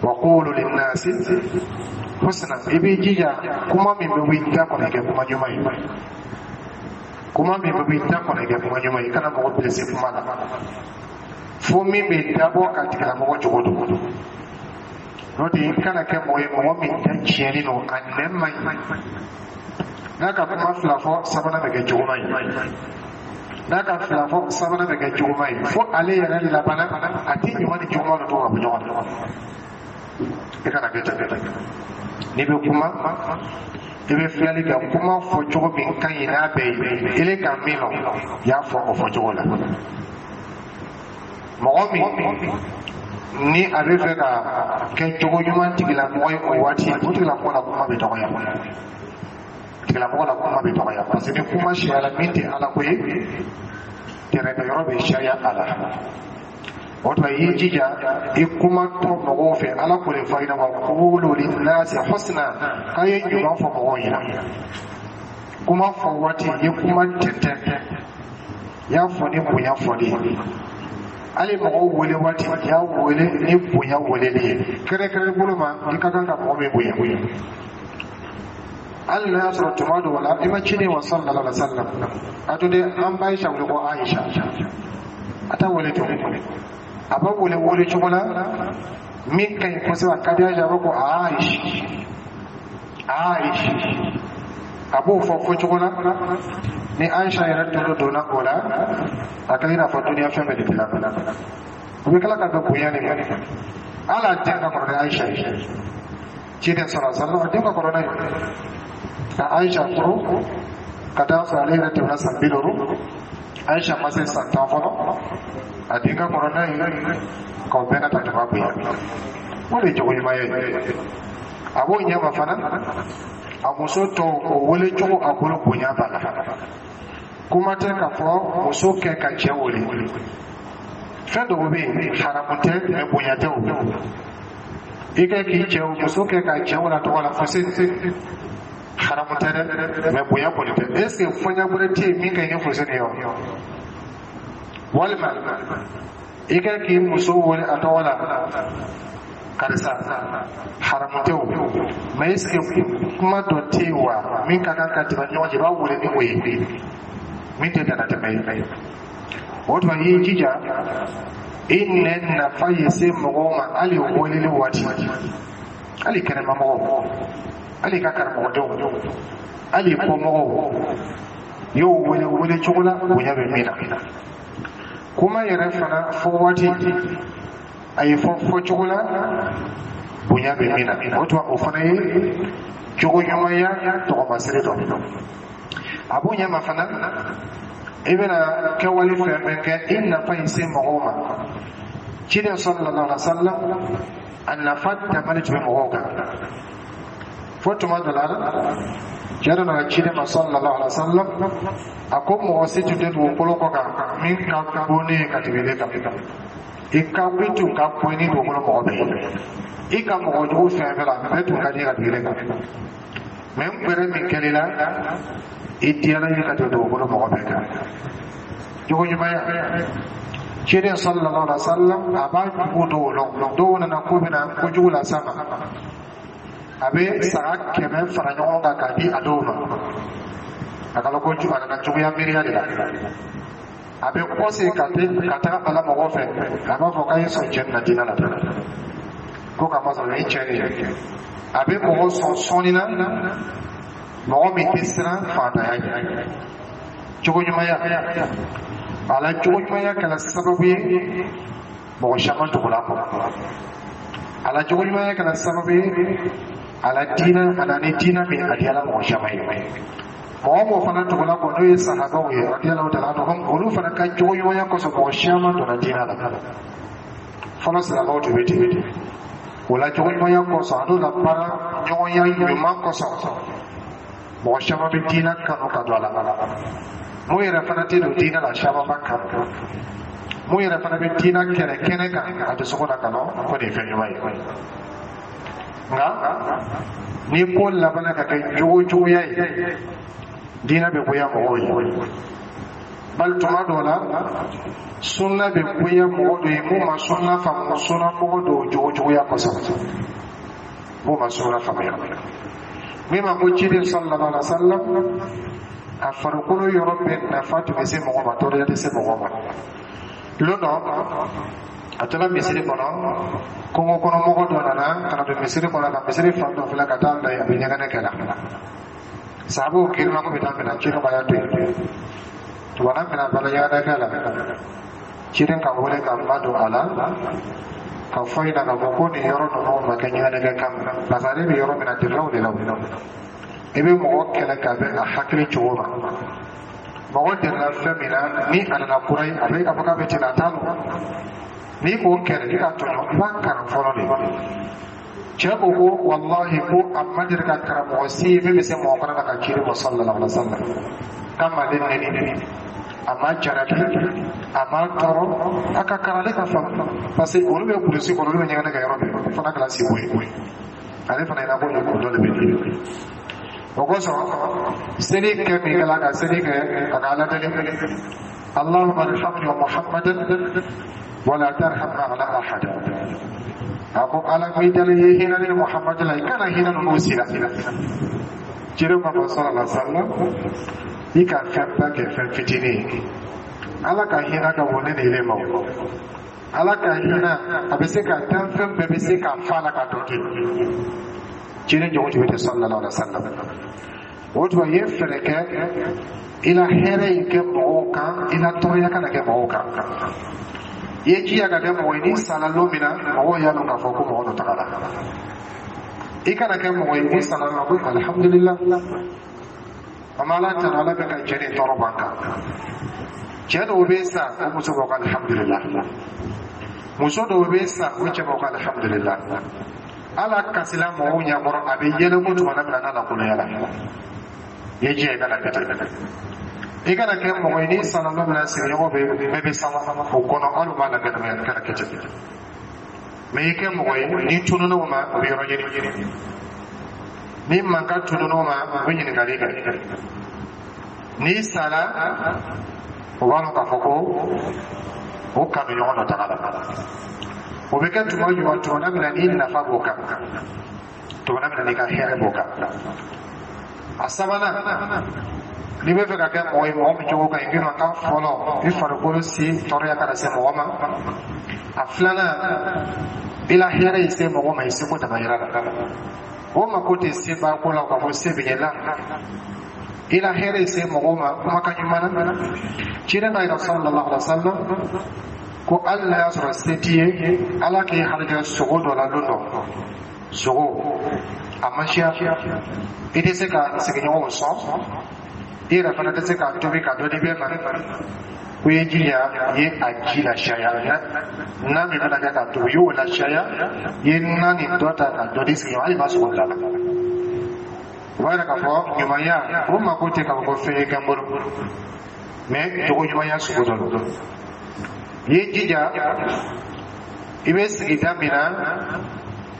Wa qulu linnasi husna. I b'i jija kuma min bɛ bɔ i da kɔnɔ, i kɛ kuma ɲuman ye. Kuma min bɛ bɔ i da kɔnɔ, i kɛ kuma ɲuman ye. I kana mɔgɔ bilisi kuma la fo min bɛ dabɔ ka tigilamɔgɔ jogo don. N'o tɛ, i kana kɛ mɔgɔ ye, mɔgɔ min da tiɲɛnen don, a nɛn man ɲi. N'a ka kuma fila fɔ, sabanan bɛ kɛ juguman ye. N'a ka fila fɔ, sabanan bɛ kɛ juguman ye, fo ale yɛrɛ labanna a tɛ ɲuman ni juguman dɔ to ka bɔ ɲɔgɔn na. I kana kɛ ten. N'i bɛ kuma, i bɛ filɛli kɛ kuma fɔ cogo min ka ɲi n'a bɛɛ ye. Ele ka min lɔn, i y'a fɔ o fɔcogo la. Mɔgɔ min ni a bɛ fɛ ka kɛ cogo ɲuman tigilamɔgɔ ye, o waati o tigilamɔgɔ la kuma bɛ dɔgɔya, tigilamɔgɔ la kuma bɛ dɔgɔya, parce que ni kuma siyala min tɛ Ala ko ye, tɛrɛmɛ yɔrɔ bɛ sariya a la. O tuma, i y'i jija i kuma tɔ mɔgɔw fɛ. Ala ko de fɔ i ɲɛna: wa qulu linnasi husna, k'a ye ɲuman fɔ mɔgɔw ɲɛna. Kuma fɔ waati, i ye kuma tɛntɛn, i y'a fɔ ni bonya fɔli ye. Hali mɔgɔw wele waati, i y'a wele ni bonya weleli ye. Kɛrɛnkɛrɛn bolo ma, i ka kan ka mɔgɔ min bonya, hali n'a y'a sɔrɔ tuma dɔw la i ma ciden wa sallallahu alaihi wa sallam, a to de an ba Aisha wele ko Aisha, a t'a wele ten. A b'a wele wele cogo la min ka ɲi kosɛbɛ, a ka di Aisha, a b'a ko Aisha, Aisha. A b'o fɔ fɔ cogo la ni Aisha yɛrɛ tolo donna o la, a kɛlen i n'a fɔ duniya fɛn bɛɛ de dilan. O bɛ tila ka bɛn bonya de ma. Hali a den ka kɔrɔ ni Aisha ye, ciden sɔrɔ sallam, a den ka kɔrɔ n'a ye. Ka Aisha furu ka taa sɔrɔ ale yɛrɛ tɛmɛna san bi duuru, Aisha ma se san tan fɔlɔ, a den ka kɔrɔ n'a ye, k'aw bɛɛ ka ta tuma bonya. O de ye jogo ɲuman ye. A b'o ɲɛma fana, a muso tɔw, o wele cogo a bolo, bonya b'a la. Kuma tɛ k'a fɔ muso kɛ ka cɛ wele. Fɛn dɔw bɛ yen, haramu tɛ, mais bonya tɛ. O i kɛ k'i cɛ muso kɛ ka cɛ wala tɔgɔ la fo se, haramu tɛ dɛ, mais bonya kɔni tɛ. Est ce que fɔɲa wɛrɛ tɛ yen min ka ɲi ni foseni ye wa? Walima i kɛ k'i muso wele a tɔgɔ la karisa, haramu tɛ o, mais est ce que kuma dɔ tɛ yen wa min ka kan ka tɛmɛ ɲɔgɔn cɛ, i b'a wele ni o ye min tɛ danatɛmɛ ye? O tuma, i y'i jija i nɛn nafa ye se mɔgɔw ma, hali weleli waati, hali kɛnɛmamɔgɔw, hali ka karamɔgɔdenw, hali kɔmɔgɔw, i y'o wele wele cogo la bonya bɛ min na. Kuma yɛrɛ fana fɔ waati, a ye fɔ fɔ cogo la bonya bɛ min na. O tuma, o fana ye jogo ɲumanya tɔgɔmasere dɔ. A b'o ɲɛma fana, i bɛna kɛwale fɛn fɛn kɛ, i nafa ye se mɔgɔw ma. Ciden sallallahu alaihi wa sallam, a nafa damani tun bɛ mɔgɔw kan, fo tuma dɔ la, cɛ dɔ nana ciden ma sallallahu alaihi wa sallam, a ko mɔgɔ si tun tɛ dugukolo kɔ kan min ka bon ne ye ka tɛmɛ ne kan. I ka i tun ka bon ni dugukolo mɔgɔ bɛɛ ye, i ka mɔgɔ jugu fɛn fɛn la, a bɛɛ tun ka di ka tɛmɛ ne kan, mais n gbɛrɛ min kɛl'i la, i diyara ye ka tɛmɛ dugukolo mɔgɔ bɛɛ kan. Jogo ɲumanya, ciden sallallahu alaihi wa sallam, a b'a jugu dɔw lɔn. Dɔw nana ko bɛna kojugu las'a ma, a bɛ saga kɛmɛ fara ɲɔgɔn kan k'a di a dɔw ma. A kana ko a nana juguya miiriya de la. A bɛ kɔse ka te ka taga ala mɔgɔ fɛ, a b'a fɔ k'a ye sɔn cɛ na diinɛ la, ko k'a masɔrɔ nin cɛ de ye. A bɛ mɔgɔ sɔn sɔnni na, mɔgɔ min tɛ siran faantanya ɲɛ. Jogo ɲumanya, a la jogo ɲumanya kɛra sababu ye mɔgɔ caman tugula kɔ. A la jogo ɲumanya kɛra sababu ye a la diinɛ, a na ni diinɛ min a diyara mɔgɔ caman ye. Mɔgɔ mɔgɔ fana tugula kɔ, n'o ye sahabaw ye radiyallahu ta'ala anhum, olu fana ka jogo ɲumanya kosɔn, mɔgɔ caman donna diinɛ la. Fɔlɔ silamɛw tun bɛ ten. O la jogo ɲumanya kosɔn, a n'o la baara ɲɔgɔnya ɲuman kosɔn, mɔgɔ caman bɛ diinɛ kanu ka don a la. Mun yɛrɛ fana tɛ don diinɛ la, caman b'a kanu. Mun yɛrɛ fana bɛ diinɛ kɛlɛ kɛnɛ kan, a dusukun na kanu ko nin ye fɛn ɲuman ye. Nka ni ko labanna ka kɛ jogo juguya ye, diinɛ bɛ goya mɔgɔw ye. Bali tuma dɔw la, sunna bɛ goya mɔgɔ dɔ ye mun ma sunna faamu, sunna mɔgɔ dɔw jogo juguya kosɔn, mun ma sunna faamuya. Min ma ko ciden sallallahu alaihi wa sallam, a farikolo yɔrɔ bɛɛ nafa tun bɛ se mɔgɔ ma, tɔɔrɔya tɛ se mɔgɔ ma. Lon dɔ, a tora misiri kɔnɔ, kungo kɔnɔ mɔgɔ dɔ nana ka na don misiri kɔnɔ, ka misiri fan dɔ filɛ ka taa bila yen, a bɛ ɲɛgɛnɛ kɛ la. Sahabaw girinna ko bɛ taa minɛ, ciden ko a y'a to yen. Tuma min na bala ɲɛgɛnɛ kɛ la, ciden ka wele ka ma don a la ka fɔ ɲɛna k'a fɔ ko nin yɔrɔ ninnu ma kɛ ɲɛgɛnɛ kɛ kama, parce que ale bɛ yɔrɔ min na, delilaw de la. I bɛ mɔgɔ kɛlɛ ka bɛn a hakili cogo ma. Mɔgɔ delila fɛn min na, ni a nana kura ye, a bɛ k'a fɔ k'a bɛ ten, a t'a lɔn. N'i k'o kɛlɛ, i ka tɔɲɔ, i b'a kalan fɔlɔ de. Cɛ ko ko walahi, ko a ma deli ka karamɔgɔ si ye min bɛ se mɔgɔ kana na ka ciden ma sallallahu alaihi wa sallam k'a ma ale nɛni, a ma jaraki, a ma tɔɔrɔ, a ka kalan ale ka faamu, parce que olu bɛ kulusi kɔnɔ, olu bɛ ɲɛgɛnɛ kɛ yɔrɔ min, o fana kɛra siko ye. Ale fana ɲɛna ko nin ko dɔ de bɛ yen. O kosɔn, seli kɛ min kɛla ka seli kɛ a ka Ala deli: Allahumma arhamni wa Muhammadan wala tarham ma'ana ahada. A ko Ala mi dali ye hinɛ ni Muhammadu la, i kana hinɛ ninnu si la. Ciden ma fɔ sallallahu alaihi wa sallam, i ka fɛnba kɛ fɛn fitinin ye. Ala ka hinɛ ka bon ne ni ile ma. O Ala ka hinɛ, a bɛ se ka dan fɛn bɛɛ bɛ se k'a fa la ka dɔ to yen. Ciden jogo tun bɛ ten sallallahu alaihi wa sallam. O tuma, i ye fɛɛrɛ kɛ i la hɛrɛ in kɛ mɔgɔw kan, i la tɔɔrɔya kana kɛ mɔgɔw kan. I ye jija ka kɛ mɔgɔ ye, n'i sara lon min na, mɔgɔw y'a dɔn k'a fɔ ko mɔgɔ dɔ tagara. I kana kɛ mɔgɔ ye, n'i sara lon ko alhamdulillah, an b'Ala tanu, Ala bɛ ka cɛ ni tɔɔrɔ b'an kan. Cɛ dɔw bɛ sa, o muso b'o ko alhamdulillah. Muso dɔw bɛ sa, o cɛ b'o ko alhamdulillah. Ala kasila mɔgɔw ɲɛkɔrɔ, a bɛ yɛlɛ ko tuma min na n'a lakolonya la, i ye jija i kana kɛ ten. I kana kɛ mɔgɔ ye n'i sara don min na, sigiɲɔgɔn bɛ bɛɛ bɛ sama o kɔnɔ, hali u b'a la kɛnɛ kana kɛ ten. Mɛ i kɛ mɔgɔ ye, n'i tununna o ma, o bɛ yɔrɔ ɲini. Ni mankan tununna o ma, o bɛ ɲininkali kɛ. N'i sara, o b'a dɔn k'a fɔ ko o kanu ɲɔgɔn dɔ taga la. O bɛ kɛ tuma jumɛn? Tuma min na n'i nafa b'o kan, tuma min na n'i ka hɛrɛ b'o kan. A sabanan, n'i bɛ fɛ ka kɛ mɔgɔ ye, mɔgɔ min jogo ka ɲi, k'i ka fɔlɔ, i farikolo si tɔɔrɔya kana se mɔgɔ ma. A filanan, i la hɛrɛ ye se mɔgɔ ma i seko damayira la. O mako tɛ se baako la k'a fɔ se bɛ ɲɛ la. I la hɛrɛ ye se mɔgɔ ma kumakan ɲuman na. Ciden ka yira sallallahu alaihi wa sallam ko hali n'a y'a sɔrɔ se t'i ye, Ala k'i harijɛ sogo dɔ la don dɔ, sogo a ma siya, i tɛ se ka sigiɲɔgɔnw sɔn, i yɛrɛ fana tɛ se k'a tobi ka dɔ di bɛɛ ma, ko i ye jija, i ye a ji lasiyaya na min bɛna kɛ k'a tobi, i y'o lasiyaya, i ye na nin dɔ ta ka dɔ di sigiɲɔgɔn, hali ma sogo bila la. O b'a yira k'a fɔ ɲumanya, o mako tɛ k'a fɔ ko fɛn ye kɛ n bolo, mɛ jogo ɲumanya sugu dɔ don. I ye jija, i bɛ sigida min na,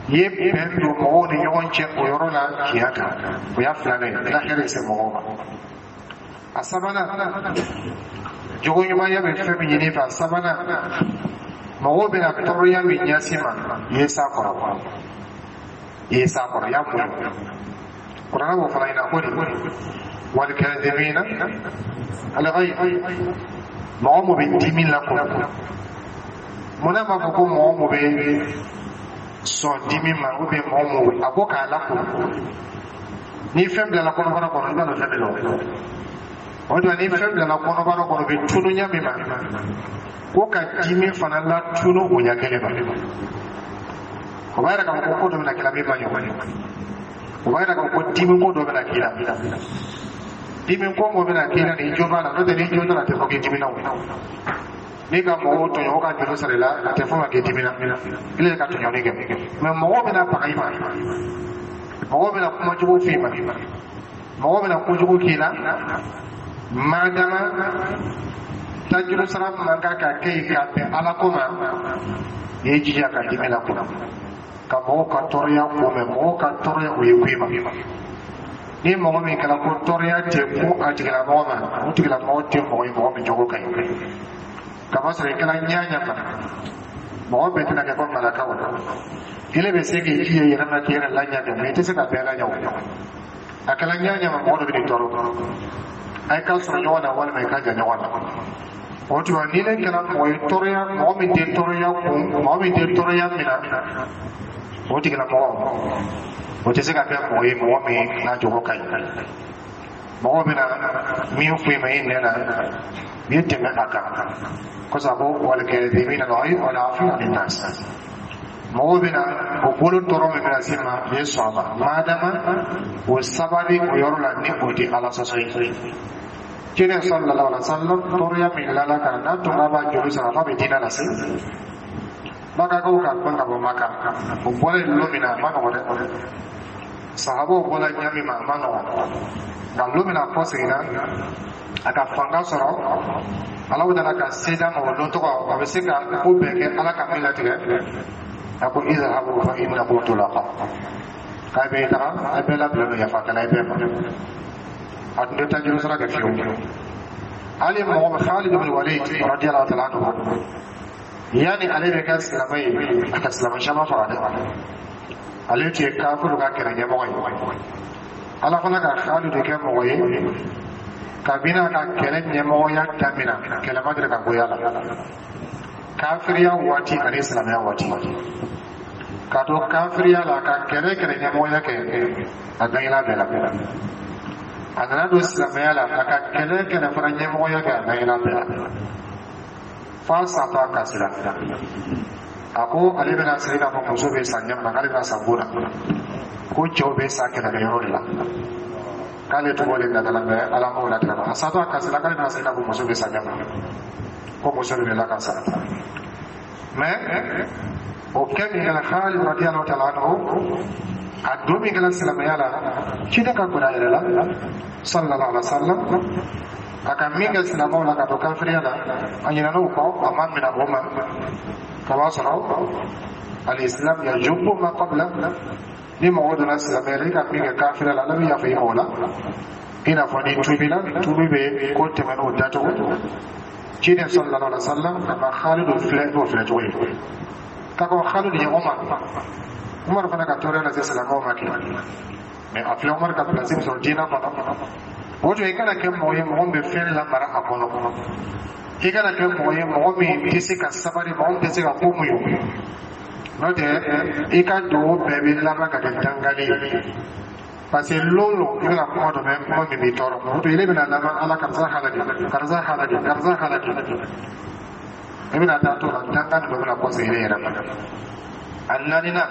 i ye bɛn don mɔgɔw ni ɲɔgɔn cɛ o yɔrɔ la tiɲɛ kan. O y'a filanan ye, i ka hɛrɛ se mɔgɔw ma. A sabanan, jogo ɲumanya bɛ fɛn min ɲini fɛ, a sabanan, mɔgɔw bɛna tɔɔrɔya min ɲɛsin ma, i ye s'a kɔrɔ, i ye s'a kɔrɔ, i y'a muɲu. Kuranɛ b'o fana ɲini. A ko de walikadimina alghayz, mɔgɔ mun bɛ dimi lakunu. Munna b'a fɔ ko mɔgɔ mun bɛ sɔn dimi ma, ou bien mɔgɔ mun a ko k'a lakunu? Ni fɛn bilala kɔnɔbara kɔnɔ, i b'a dɔn fɛn bɛ lɔ o de. Ni fɛn bilala kɔnɔbara kɔnɔ, o bɛ tunu ɲɛ min ma, ko ka dimi fana latunu o ɲɛ kelen ma. O b'a yira k'a fɔ ko ko dɔ bɛna k'i la min ma ɲɔgɔn. O b'a yira k'a fɔ ko dimi ko dɔ bɛna k'i la, dimi ko mo bɛna k'i la ni jo b'a la. N'o tɛ, ni jo t'a la, a tɛ fɔ k'i dimina. O n'i ka mɔgɔw tɔɲɔ, o ka juru sara i la, a tɛ fɔ ma k'i dimina, i le ka tɔɲɔni kɛ. Mɛ mɔgɔw bɛna baga i ma, mɔgɔw bɛna kuma jugu f'i ma, mɔgɔw bɛna kojugu k'i la, madama tajuru sara man kan ka kɛ yen ka bɛn Ala ko ma. I ye jija ka dimi la kunna, ka mɔgɔw ka tɔɔrɔya kunbɛn. Mɔgɔw ka tɔɔrɔya, o ye ko i ma. Ni mɔgɔ min kɛra ko tɔɔrɔya tɛ ko a tigilamɔgɔ ma, o tigilamɔgɔ tɛ mɔgɔ ye mɔgɔ min jogo ka ɲi. Kamasɔrɔ i kɛra ɲɛ ɲɛ ma, mɔgɔ bɛɛ tɛna kɛ ko malakaw. Ile bɛ se k'i jija i yɛrɛ ma k'i yɛrɛ laɲɛ kɛ, mɛ i tɛ se ka bɛɛ laɲɛ. O a kɛra ɲɛ ɲɛ ma, mɔgɔ dɔ bɛ nin tɔɔrɔ, a ye ka sɔrɔ ɲɔgɔn na walima i ka jan ɲɔgɔn na. O tuma, ni ne kɛra mɔgɔ ye tɔɔrɔya, mɔgɔ min tɛ tɔɔrɔya kun, mɔgɔ min tɛ tɔɔrɔya minɛ, o tigilamɔgɔ, o tɛ se ka kɛ mɔgɔ ye mɔgɔ min n'a jogo ka ɲi. Mɔgɔ bɛna min fɔ i ma i nɛn na, i ye tɛmɛ a kan kɔsa ko walikadimina alghayz wal afina anin nas. Mɔgɔw bɛna o bolo tɔɔrɔ min bɛna se ma, i ye sɔn a ma, madama o sabali o yɔrɔ la, ni o tɛ Ala sɔsɔ ye. Ciden sallallahu alaihi wasallam, tɔɔrɔya min lala kan n'a tun b'a b'a joli sara f'a bɛ diinɛ lase Makakaw ka gbɛn ka bɔ Maka. O bɔra yen lon min na, a ma nɔgɔ dɛ. Sahabaw bɔra ɲɛ min ma, a ma nɔgɔ. Nka lon min na a kɔ seginna, a ka fanga sɔrɔ, Ala nana ka se d'a ma, o don tɔgɔ a bɛ se ka ko bɛɛ kɛ Ala ka min latigɛ. A ko izhabu fa innakum tulaqa, k'a bɛ taga, a bɛɛ labila don yafa kɛla i bɛɛ ma. A tun tɛ tajuru sara kɛ fiyewu. Hali mɔgɔ min Khalid ibn Walid radiyallahu ta'ala anhu, yani ale bɛ kɛ silamɛ ye, a ka silamɛ caman faga dɛ. Ale tun ye kafiru ka kɛlɛ ɲɛmɔgɔ ye. Ala fana ka Khalid kɛ mɔgɔ ye, kabini a ka kɛlɛ ɲɛmɔgɔya daminɛ, kɛlɛ ma deli ka goya la, kafiriya waati ani silamɛya waati. Ka to kafiriya la, ka kɛlɛ kɛlɛ ɲɛmɔgɔya kɛ, a gagnera bɛɛ la. A nana don silamɛya la, a ka kɛlɛ kɛlɛ fana ɲɛmɔgɔya kɛ, a gagnera bɛɛ la, f'a satɔ a kasira. A ko ale bɛna sa i n'a fɔ muso bɛ sa ɲɛ min na, k'ale bɛna sa bon na, ko cɛw bɛ sa kɛlɛkɛyɔrɔ de la, k'ale tɔgɔ de natala. Mɛ Ala m'o latigɛ a satɔ a kasira, k'ale bɛna sa i n'a fɔ muso bɛ sa ɲɛ min na, ko muso de bɛ la ka sa. Mɛ o kɛ min kɛra Khalid radiyallahu ta'ala anhu, a don min kɛra silamɛya la, ciden ka gbɛrɛ a yɛrɛ la sallallahu alaihi wa sallam. A ka min kɛ silamɛw la ka to kafiriya la, a ɲinɛna o kɔ, a ma minɛ o ma. Ka b'a sɔrɔ الإسلام يجب ما قبله. Ni mɔgɔ donna silamɛya la, i ka min kɛ kafiriya la, Ala bɛ yafa i ma o la. I n'a fɔ ni tuubila, tuubi bɛ ko tɛmɛn'o datugu. Ciden صلى الله عليه وسلم a ma Khalidu filɛ n'o filɛ cogo ye k'a ko Khalidu ye Umar, Umar fana ka tɔɔrɔya lase silamɛw ma kɛ, mais a filɛ Umar ka place min sɔrɔ diinɛ kɔnɔ. O tun, i kana kɛ mɔgɔ ye, mɔgɔ min bɛ fɛn lamara a kɔnɔ. I kana kɛ mɔgɔ ye, mɔgɔ min tɛ se ka sabali, mɔgɔ min tɛ se ka ko muɲu. N'o tɛ, i ka dugawu bɛɛ bɛ laban ka kɛ dangali ye, parce que lon lo i bɛna kuma dɔ mɛn, kuma min b'i tɔɔrɔ. O tun, ile bɛna laban Ala karisa halaki, karisa halaki, karisa halaki. I bɛna taa to la, dangani dɔ bɛna kɔsegin i yɛrɛ ma. A naaninan,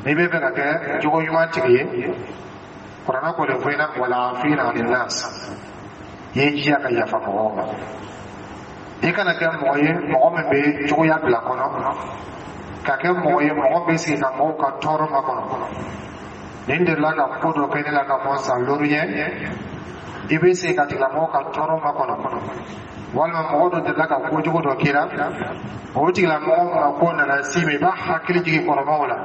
n'i bɛ fɛ ka kɛ jogo ɲuman tigi ye, Kuranɛ ko de fɔ i ɲɛna: والعافين عن الناس. I ye jija ka yafa mɔgɔw ma. I kana kɛ mɔgɔ ye, mɔgɔ min bɛ cogoya bila kɔnɔ, ka kɛ mɔgɔ ye, mɔgɔ bɛ sigi ka mɔgɔw ka tɔɔrɔ makɔnɔ. Nin delila ka ko dɔ kɛ ne la ka fɔ san duuru ɲɛ. I bɛ sigi ka tigilamɔgɔ ka tɔɔrɔ makɔnɔ, walima mɔgɔ dɔ delila ka kojugu dɔ k'i la, o tigilamɔgɔ ma ko nana s'i ma, i b'a hakili jigin kɔrɔmaw la,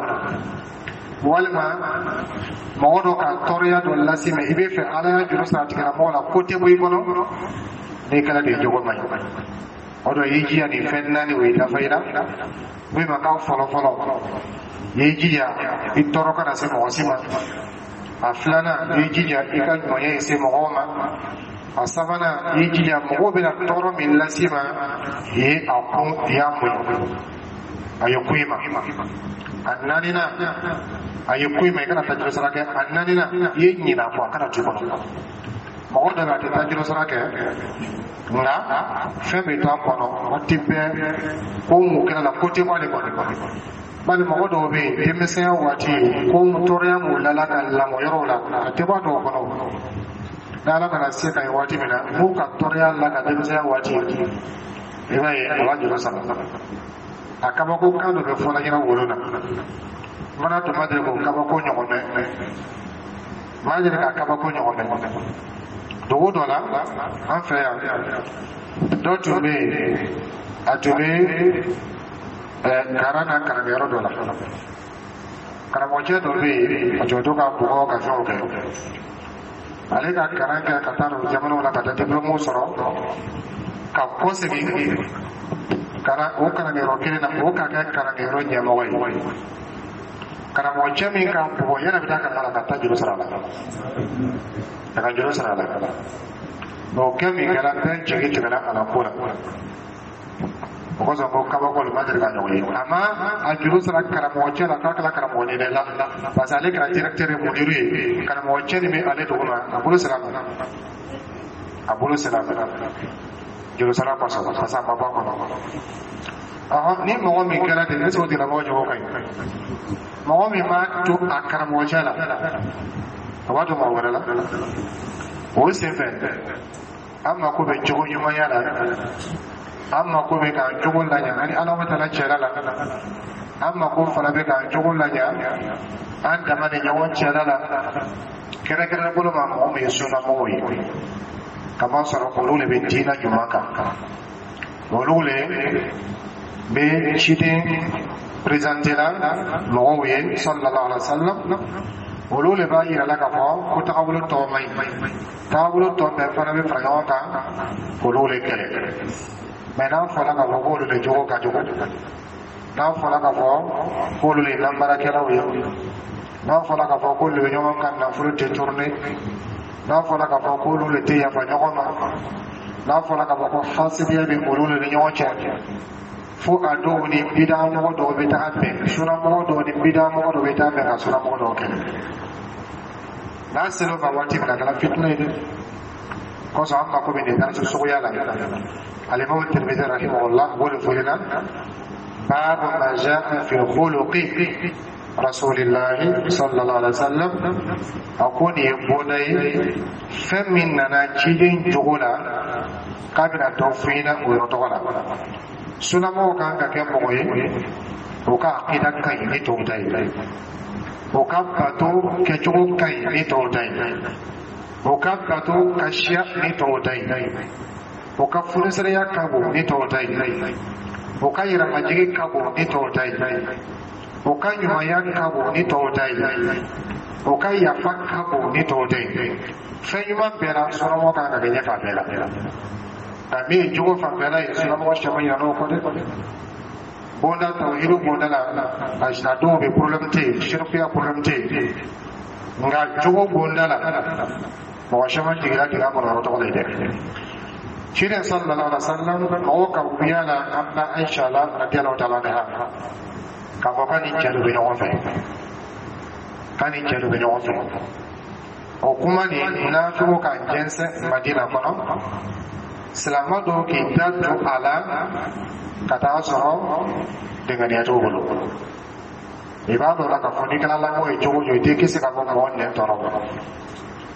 walima mɔgɔ dɔ ka tɔɔrɔya dɔ las'i ma, i bɛ fɛ Ala y'a juru sara tigilamɔgɔ la, ko tɛ bɔ i kɔnɔ. N'i kɛra de jogo man ɲi. O dɔ, i jija nin fɛn naani, o ye dafa i la. Min ma k'a fɔlɔ fɔlɔ, i y'i jija i tɔɔrɔ kana se mɔgɔ si ma. A filanan, i y'i jija i ka ɲɔnya ye se mɔgɔw ma. A sabanan, i y'i jija mɔgɔw bɛna tɔɔrɔ min las'i ma, i ye a kun, i y'a muɲu, a ye kun i ma. A naaninan, a ye kun i ma, i kana taa sara kɛ. A naaninan, i ye ɲinɛ a kɔ, a kana to i kɔnɔ. Mɔgɔ dɔ bɛ, a tɛ taa juru sara kɛ, nka fɛn bɛ to a kɔnɔ waati bɛɛ, ko mun kɛra la, ko tɛ bɔ ale kɔnɔ. Bali mɔgɔ dɔw bɛ yen, denmisɛnya waati, ko tɔɔrɔya m'u lala ka lamɔ yɔrɔw la, a tɛ bɔ a dɔw kɔnɔ. N'Ala nana se ka ye waati min na, n'u ka tɔɔrɔya la ka denmisɛnya waati, i b'a ye a b'a juru sara. A kabako kan dɔ bɛ fɔla ɲɛna wolo na, mana tun ma deli k'o kabako ɲɔgɔn mɛn, maa deli ka kabako ɲɔgɔn mɛn. Dugu dɔ la an fɛ yan, dɔ tun bɛ yen, a tun bɛ karan na karankɛyɔrɔ dɔ la. Karamɔgɔcɛ dɔ bɛ yen, a tun bɛ to ka bugɔ ka fɛnw kɛ. Ale ka kalan kɛ ka taa don jamanaw la, ka taa diplôme sɔrɔ, ka kɔsegin ka na o karankɛyɔrɔ kelen na, o ka kɛ karankɛyɔrɔ ɲɛmɔgɔ ye. Karamɔgɔcɛ min ka bugɔ, yɛrɛ bɛ taa kalan la ka taa juru sara a la, a ka juru sara a la. O kɛ min kɛra, bɛɛ jigi tigɛla a la ko la. O kosɔn ko kabako ma deli ka ɲɔgɔn ye. A ma a juru sara karamɔgɔcɛ la k'a kɛra karamɔgɔ ye dɛ la, parce que ale kɛra directeur ye, mudiru ye. Karamɔgɔcɛ nin bɛ ale dugu ma, a bolo sera a ma, a bolo sera a ma juru sara kosɔn, parce que a ma bɔ a kɔnɔ. Ɔhɔn, ni mɔgɔ min kɛra ten, est ce que o tigilamɔgɔ jogo ka ɲi? Mɔgɔ min b'a to a karamɔgɔcɛ la, a b'a to mɔgɔ wɛrɛ la. O senfɛ, an mako bɛ jogo ɲumanya la, an mako bɛ k'an jogo laɲa ani Ala taala cɛla la, an mako fana bɛ k'an jogo laɲa an dama ni ɲɔgɔn cɛla la, kɛrɛnkɛrɛn bolo ma mɔgɔ min ye sunnamɔgɔw ye, kamasɔrɔ olu de bɛ diinɛ ɲuman kan, olu de bɛ ciden présenté la mɔgɔw ye صلى الله عليه وسلم. Olu de b'a yira la k'a fɔ ko tagabolo tɔ man ɲi, tagabolo tɔ bɛɛ fana bɛ fara ɲɔgɔn kan k'olu de kɛlɛ. Mais n'a fɔra k'a fɔ k'olu de jogo ka jugu, n'a fɔra k'a fɔ k'olu de ye nanbarakɛlaw ye, n'a fɔra k'a fɔ k'olu de bɛ ɲɔgɔn ka nafolo détourner, n'a fɔra k'a fɔ k'olu de tɛ yafa ɲɔgɔn ma, n'a fɔra k'a fɔ ko hasidiya bɛ olu de ni ɲɔgɔn cɛ, fo a dɔw ni bidamɔgɔ dɔw bɛ taa bɛn, sunamɔgɔ dɔw ni bidamɔgɔ dɔw bɛ taa bɛn ka sunamɔgɔ dɔw kɛlɛ, n'a sera o ma waati min na, a kɛra fitinɛ ye dɛ. Kosɔn an mako bɛ nin darisu suguya la. الإمام الترمذي رحمه الله بقول فلنا: باب ما جاء في خلق رسول الله صلى الله عليه وسلم. A ko nin ye bonda ye, fɛn min nana ciden jogo la, k'a bɛna dɔ fɔ i ɲɛna o yɔrɔ tɔgɔ la. Sunamɔgɔw kan ka kɛ mɔgɔ ye, o ka akida ka ɲi ni tɔw ta ye, o ka bato kɛcogo ka ɲi ni tɔw ta ye. O ka bato ka siya ni tɔw ta ye, o ka funisɛrɛya ka bon ni tɔw ta ye, o ka yɛrɛmajigi ka bon ni tɔw ta ye, o ka ɲumanya ka bon ni tɔw ta ye, o ka yafa ka bon ni tɔw ta ye. Fɛn ɲuman bɛɛ la, sunnamɔgɔ kan ka kɛ ɲɛfɛ a bɛɛ la. Nka min ye jogo fanfɛla ye, sunnamɔgɔ caman ɲinɛ n'o kɔ dɛ. Bonda tawhidu bonda la, a dɔw bɛ problème tɛ yen, sirikuya problème tɛ yen, nka jogo bonda la, mɔgɔ caman jiginna dingɛ kɔnɔ yɔrɔ tɔgɔ la dɛ. Ciden sallallahu alaihi wasallam, mɔgɔw ka wuya la an ba Aisha la radiyallahu ta'ala anha, k'a fɔ k'a ni cɛ dɔ bɛ ɲɔgɔn fɛ, k'a ni cɛ dɔ bɛ ɲɔgɔn fɛ. O kuma nin, munafiqw ka jɛnsɛn Madina kɔnɔ, silamɛ dɔw k'i da don a la ka taa sɔrɔ denganiya t'u bolo. I b'a dɔn la k'a fɔ n'i kɛra lamɔ ye cogo o cogo, i tɛ kisi ka bɔ mɔgɔ nɛn tɔɔrɔ ma.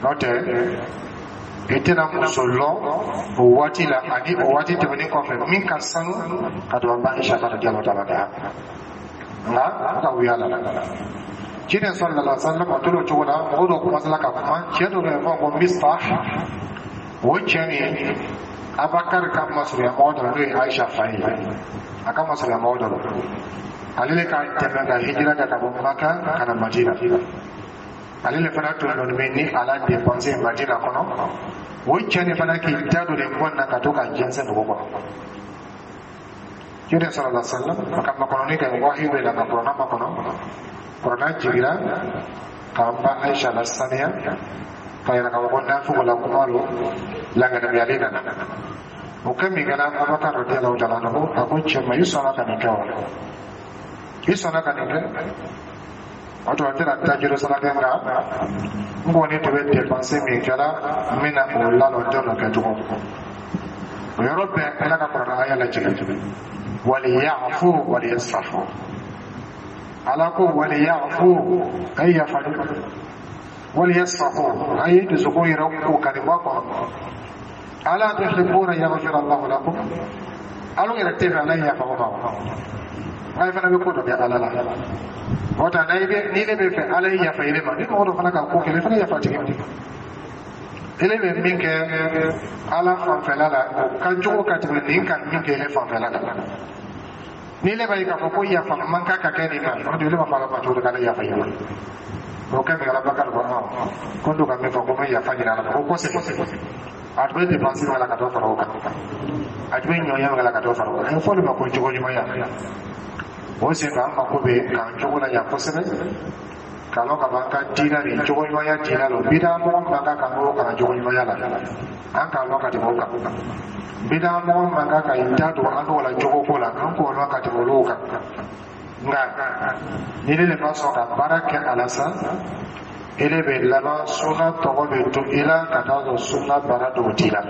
N'o tɛ, i tɛna muso lɔn o waati la ani o waati tɛmɛnen kɔfɛ min ka sanu ka tɛmɛ ba Aisha kan radiyallahu ta'ala anha. Nka ka wuya la, ciden sallallahu alaihi wasallam, a tora o cogo la. Mɔgɔ dɔw commencé ka kuma. Cɛ dɔ bɛ yen fɔ ko Mistah, o cɛ nin, Abakari ka masurunya mɔgɔ dɔ la, n'o ye Aisha fa ye, a ka masurunya mɔgɔ dɔ la, ale de ka tɛmɛ ka hijira kɛ ka bɔ Maka ka na Madina. Ale de fana tun dɔnni bɛ ni a la dépense Madina kɔnɔ. O cɛ nin fana k'i da don nin kuma na ka to ka jɛnsɛn dugu kɔnɔ. Ciden sallallahu alaihi wasallam, a ka makɔnɔni kɛ, wahiyu bɛ na ka kuranna makɔnɔ. Kuranna jigira k'an ba Aisha la saniya, ka yira k'a fɔ ko nafigo la kuma lo, langanamiyali nana. O kɛ min kɛra, Abakar radiyallahu ta'ala anhu, a ko cɛ ma: "I sɔnna ka nin kɛ wa? I sɔnna ka nin kɛ?" O tuma n tɛna tajuru sara kɛ, nka n kɔni tun bɛ dépense min kɛra, n bɛna o lalɔ, n tɛ n'o kɛ tugun. O yɔrɔ bɛɛ, Ala ka kuranɛ aya lajigin: waliyafu waliyasfahu. Ala ko: waliyafu, a ye yafa dɛ, waliyasfahu, a ye dusukun yɛrɛ ko ka nin bɔ a kɔnɔ. Ala tuhibbuna yaghfira Allahu lakum? Ala yɛrɛ tɛ fɛ Ala ye yafa o ma wa? Nka i fana bɛ ko dɔ kɛ Ala la. O ta n'a bɛ ni ne bɛ fɛ Ala ye yafa i ma, ni mɔgɔ dɔ fana ka ko kɛ, i fana yafa tigi ma. Ele bɛ min kɛ Ala fanfɛla la, o ka jugu ka tɛmɛ nin ka min kɛ ele fanfɛla la. Ni ne b'a ye k'a fɔ ko yafa man kan ka kɛ nin ma, o de ele b'a fɔ Ala ma cogo di k'ale yafa i ma? O kɛ min, Abubakar ko: "Ɔn, ko n don ka min fɔ ko n bɛ yafa ɲini Ala fɛ." Ko kɔsegin, a tun bɛ dépense min la ka dɔ fara o kan, a tun bɛ ɲɔnya min la ka dɔ fara o kan. A ye fɔ de ma ko jogo ɲumanya. O senfɛ, an mako bɛ k'an jogo la ɲa kosɛbɛ, k'a lɔn ka fɔ an ka diinɛ nin, jogo ɲumanya diinɛ don. Bida mɔgɔ man kan ka n'o kalan jogo ɲumanya la, an k'a lɔn ka tɛmɛ o kan. Bida mɔgɔ man kan ka i da don an n'o la jogo ko la, an k'o lɔn ka tɛmɛ olu kan. Nka ni ne de ma sɔn ka baara kɛ a la sa, ele bɛ laban sunna tɔgɔ bɛ to i la, ka taa sɔrɔ sunna baara dɔw t'i la.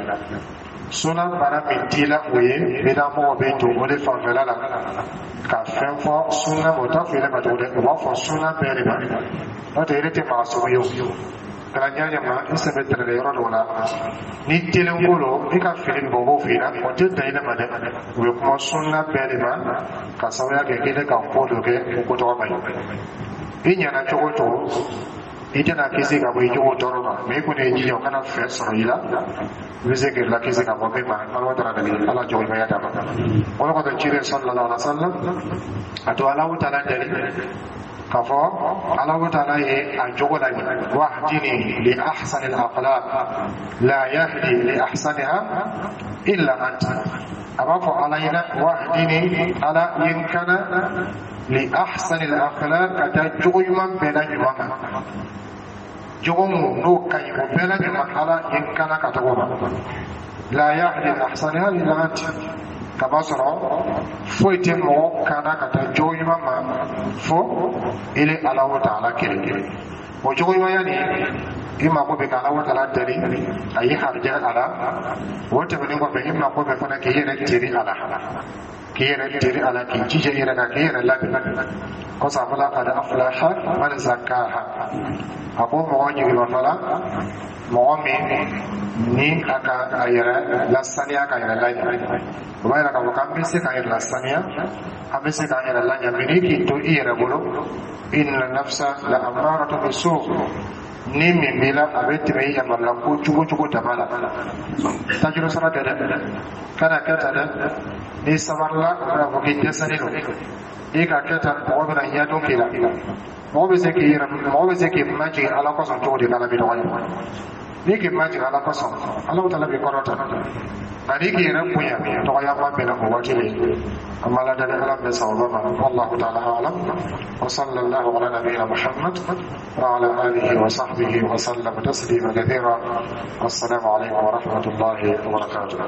Sunna baara min t'i la, o ye bida mɔgɔ bɛ don o de fanfɛla la ka fɛn fɔ sunna ma. O t'a fɔ ele ma tugun dɛ, o b'a fɔ sunna bɛɛ de ma. N'o tɛ, ele tɛ maa sugu ye. O kɛra ɲɛ ma, i sen bɛ tɛrɛlɛ yɔrɔ dɔw la ni telen ko lo, i ka fili bɔ, o b'o f'i ɲɛna. O tɛ dan ile ma dɛ, u bɛ kuma sunna bɛɛ de ma, ka sababuya kɛ k'ile ka ko dɔ kɛ, o ko tɔgɔ ma ɲi. I ɲɛna cogo o cogo, i tɛna kisi ka bɔ i jogo tɔɔrɔ ma, mɛ i kɔni ye jija o kana fɛ sɔrɔ i la, i bɛ se k'i la kisi ka bɔ min ma. Ala taala dali, Ala jogo ɲumanya d'a ma. O de kosɔn, ciden sallallahu alaihi wa sallam, a to Alahu taala dali k'a fɔ Alahu taala ye a jogo la ɲɛ: wahdini li ahsani al-akhlaq la yahdi li ahsaniha illa anta. A b'a fɔ Ala ɲɛna: wahdini, Ala ye n kana, li ahsani al-akhlaq, ka taa jogo ɲuman bɛɛ la ɲuman ma, jogo mun n'o ka ɲi, o bɛɛ la ɲuman, Ala ye n kana ka taga o ma. La yahdi li ahsaniha illa anta, kaba sɔrɔ foyi tɛ mɔgɔ kana ka taa jogo ɲuman ma fo ele Alahu taala kelen kelen. O jogo ɲumanya nin, i mako bɛ ka Alahu taala dali a ye harijɛ a la. O tɛmɛnen kɔfɛ, i mako bɛ fana k'i yɛrɛ teri a la, k'i yɛrɛ teri a la, k'i jija i yɛrɛ kan, k'i yɛrɛ labɛn. Kɔsa a fɔla: qad aflaha man zakkaha. A ko mɔgɔ jigima la, mɔgɔ min ni a ka a yɛrɛ lasaniya, ka yɛrɛ laɲa. O b'a yira k'a fɔ k'an bɛ se k'an yɛrɛ lasaniya, an bɛ se k'an yɛrɛ laɲa, mɛ n'i k'i to i yɛrɛ bolo, inna nafsa la ammaratu bisu. Ni min b'i la, a bɛ tɛmɛ i yamarula ko cogo cogo dama la. Tajuru sara tɛ dɛ, kana kɛ tan dɛ. N'i sabarila, o bɛna fɔ k'i dɛsɛlen don. N'i ka kɛ tan, mɔgɔ bɛna ɲɛdɔn k'i la. Mɔgɔ bɛ se k'i yɛrɛ, mɔgɔ bɛ se k'i majigin Ala kosɔn cogo di k'Ala b'i dɔgɔya? N'i k'i majigin Ala kosɔn, Ala taala b'i kɔrɔta. Nka n'i k'i yɛrɛ bonya, dɔgɔyaba bɛna o waati de. An b'Ala dali, Ala bɛ sababa ma. والله تعالى أعلم وصلى الله على نبينا محمد وعلى آله وصحبه وسلم تسليما كثيرا. والسلام عليكم ورحمة الله وبركاته.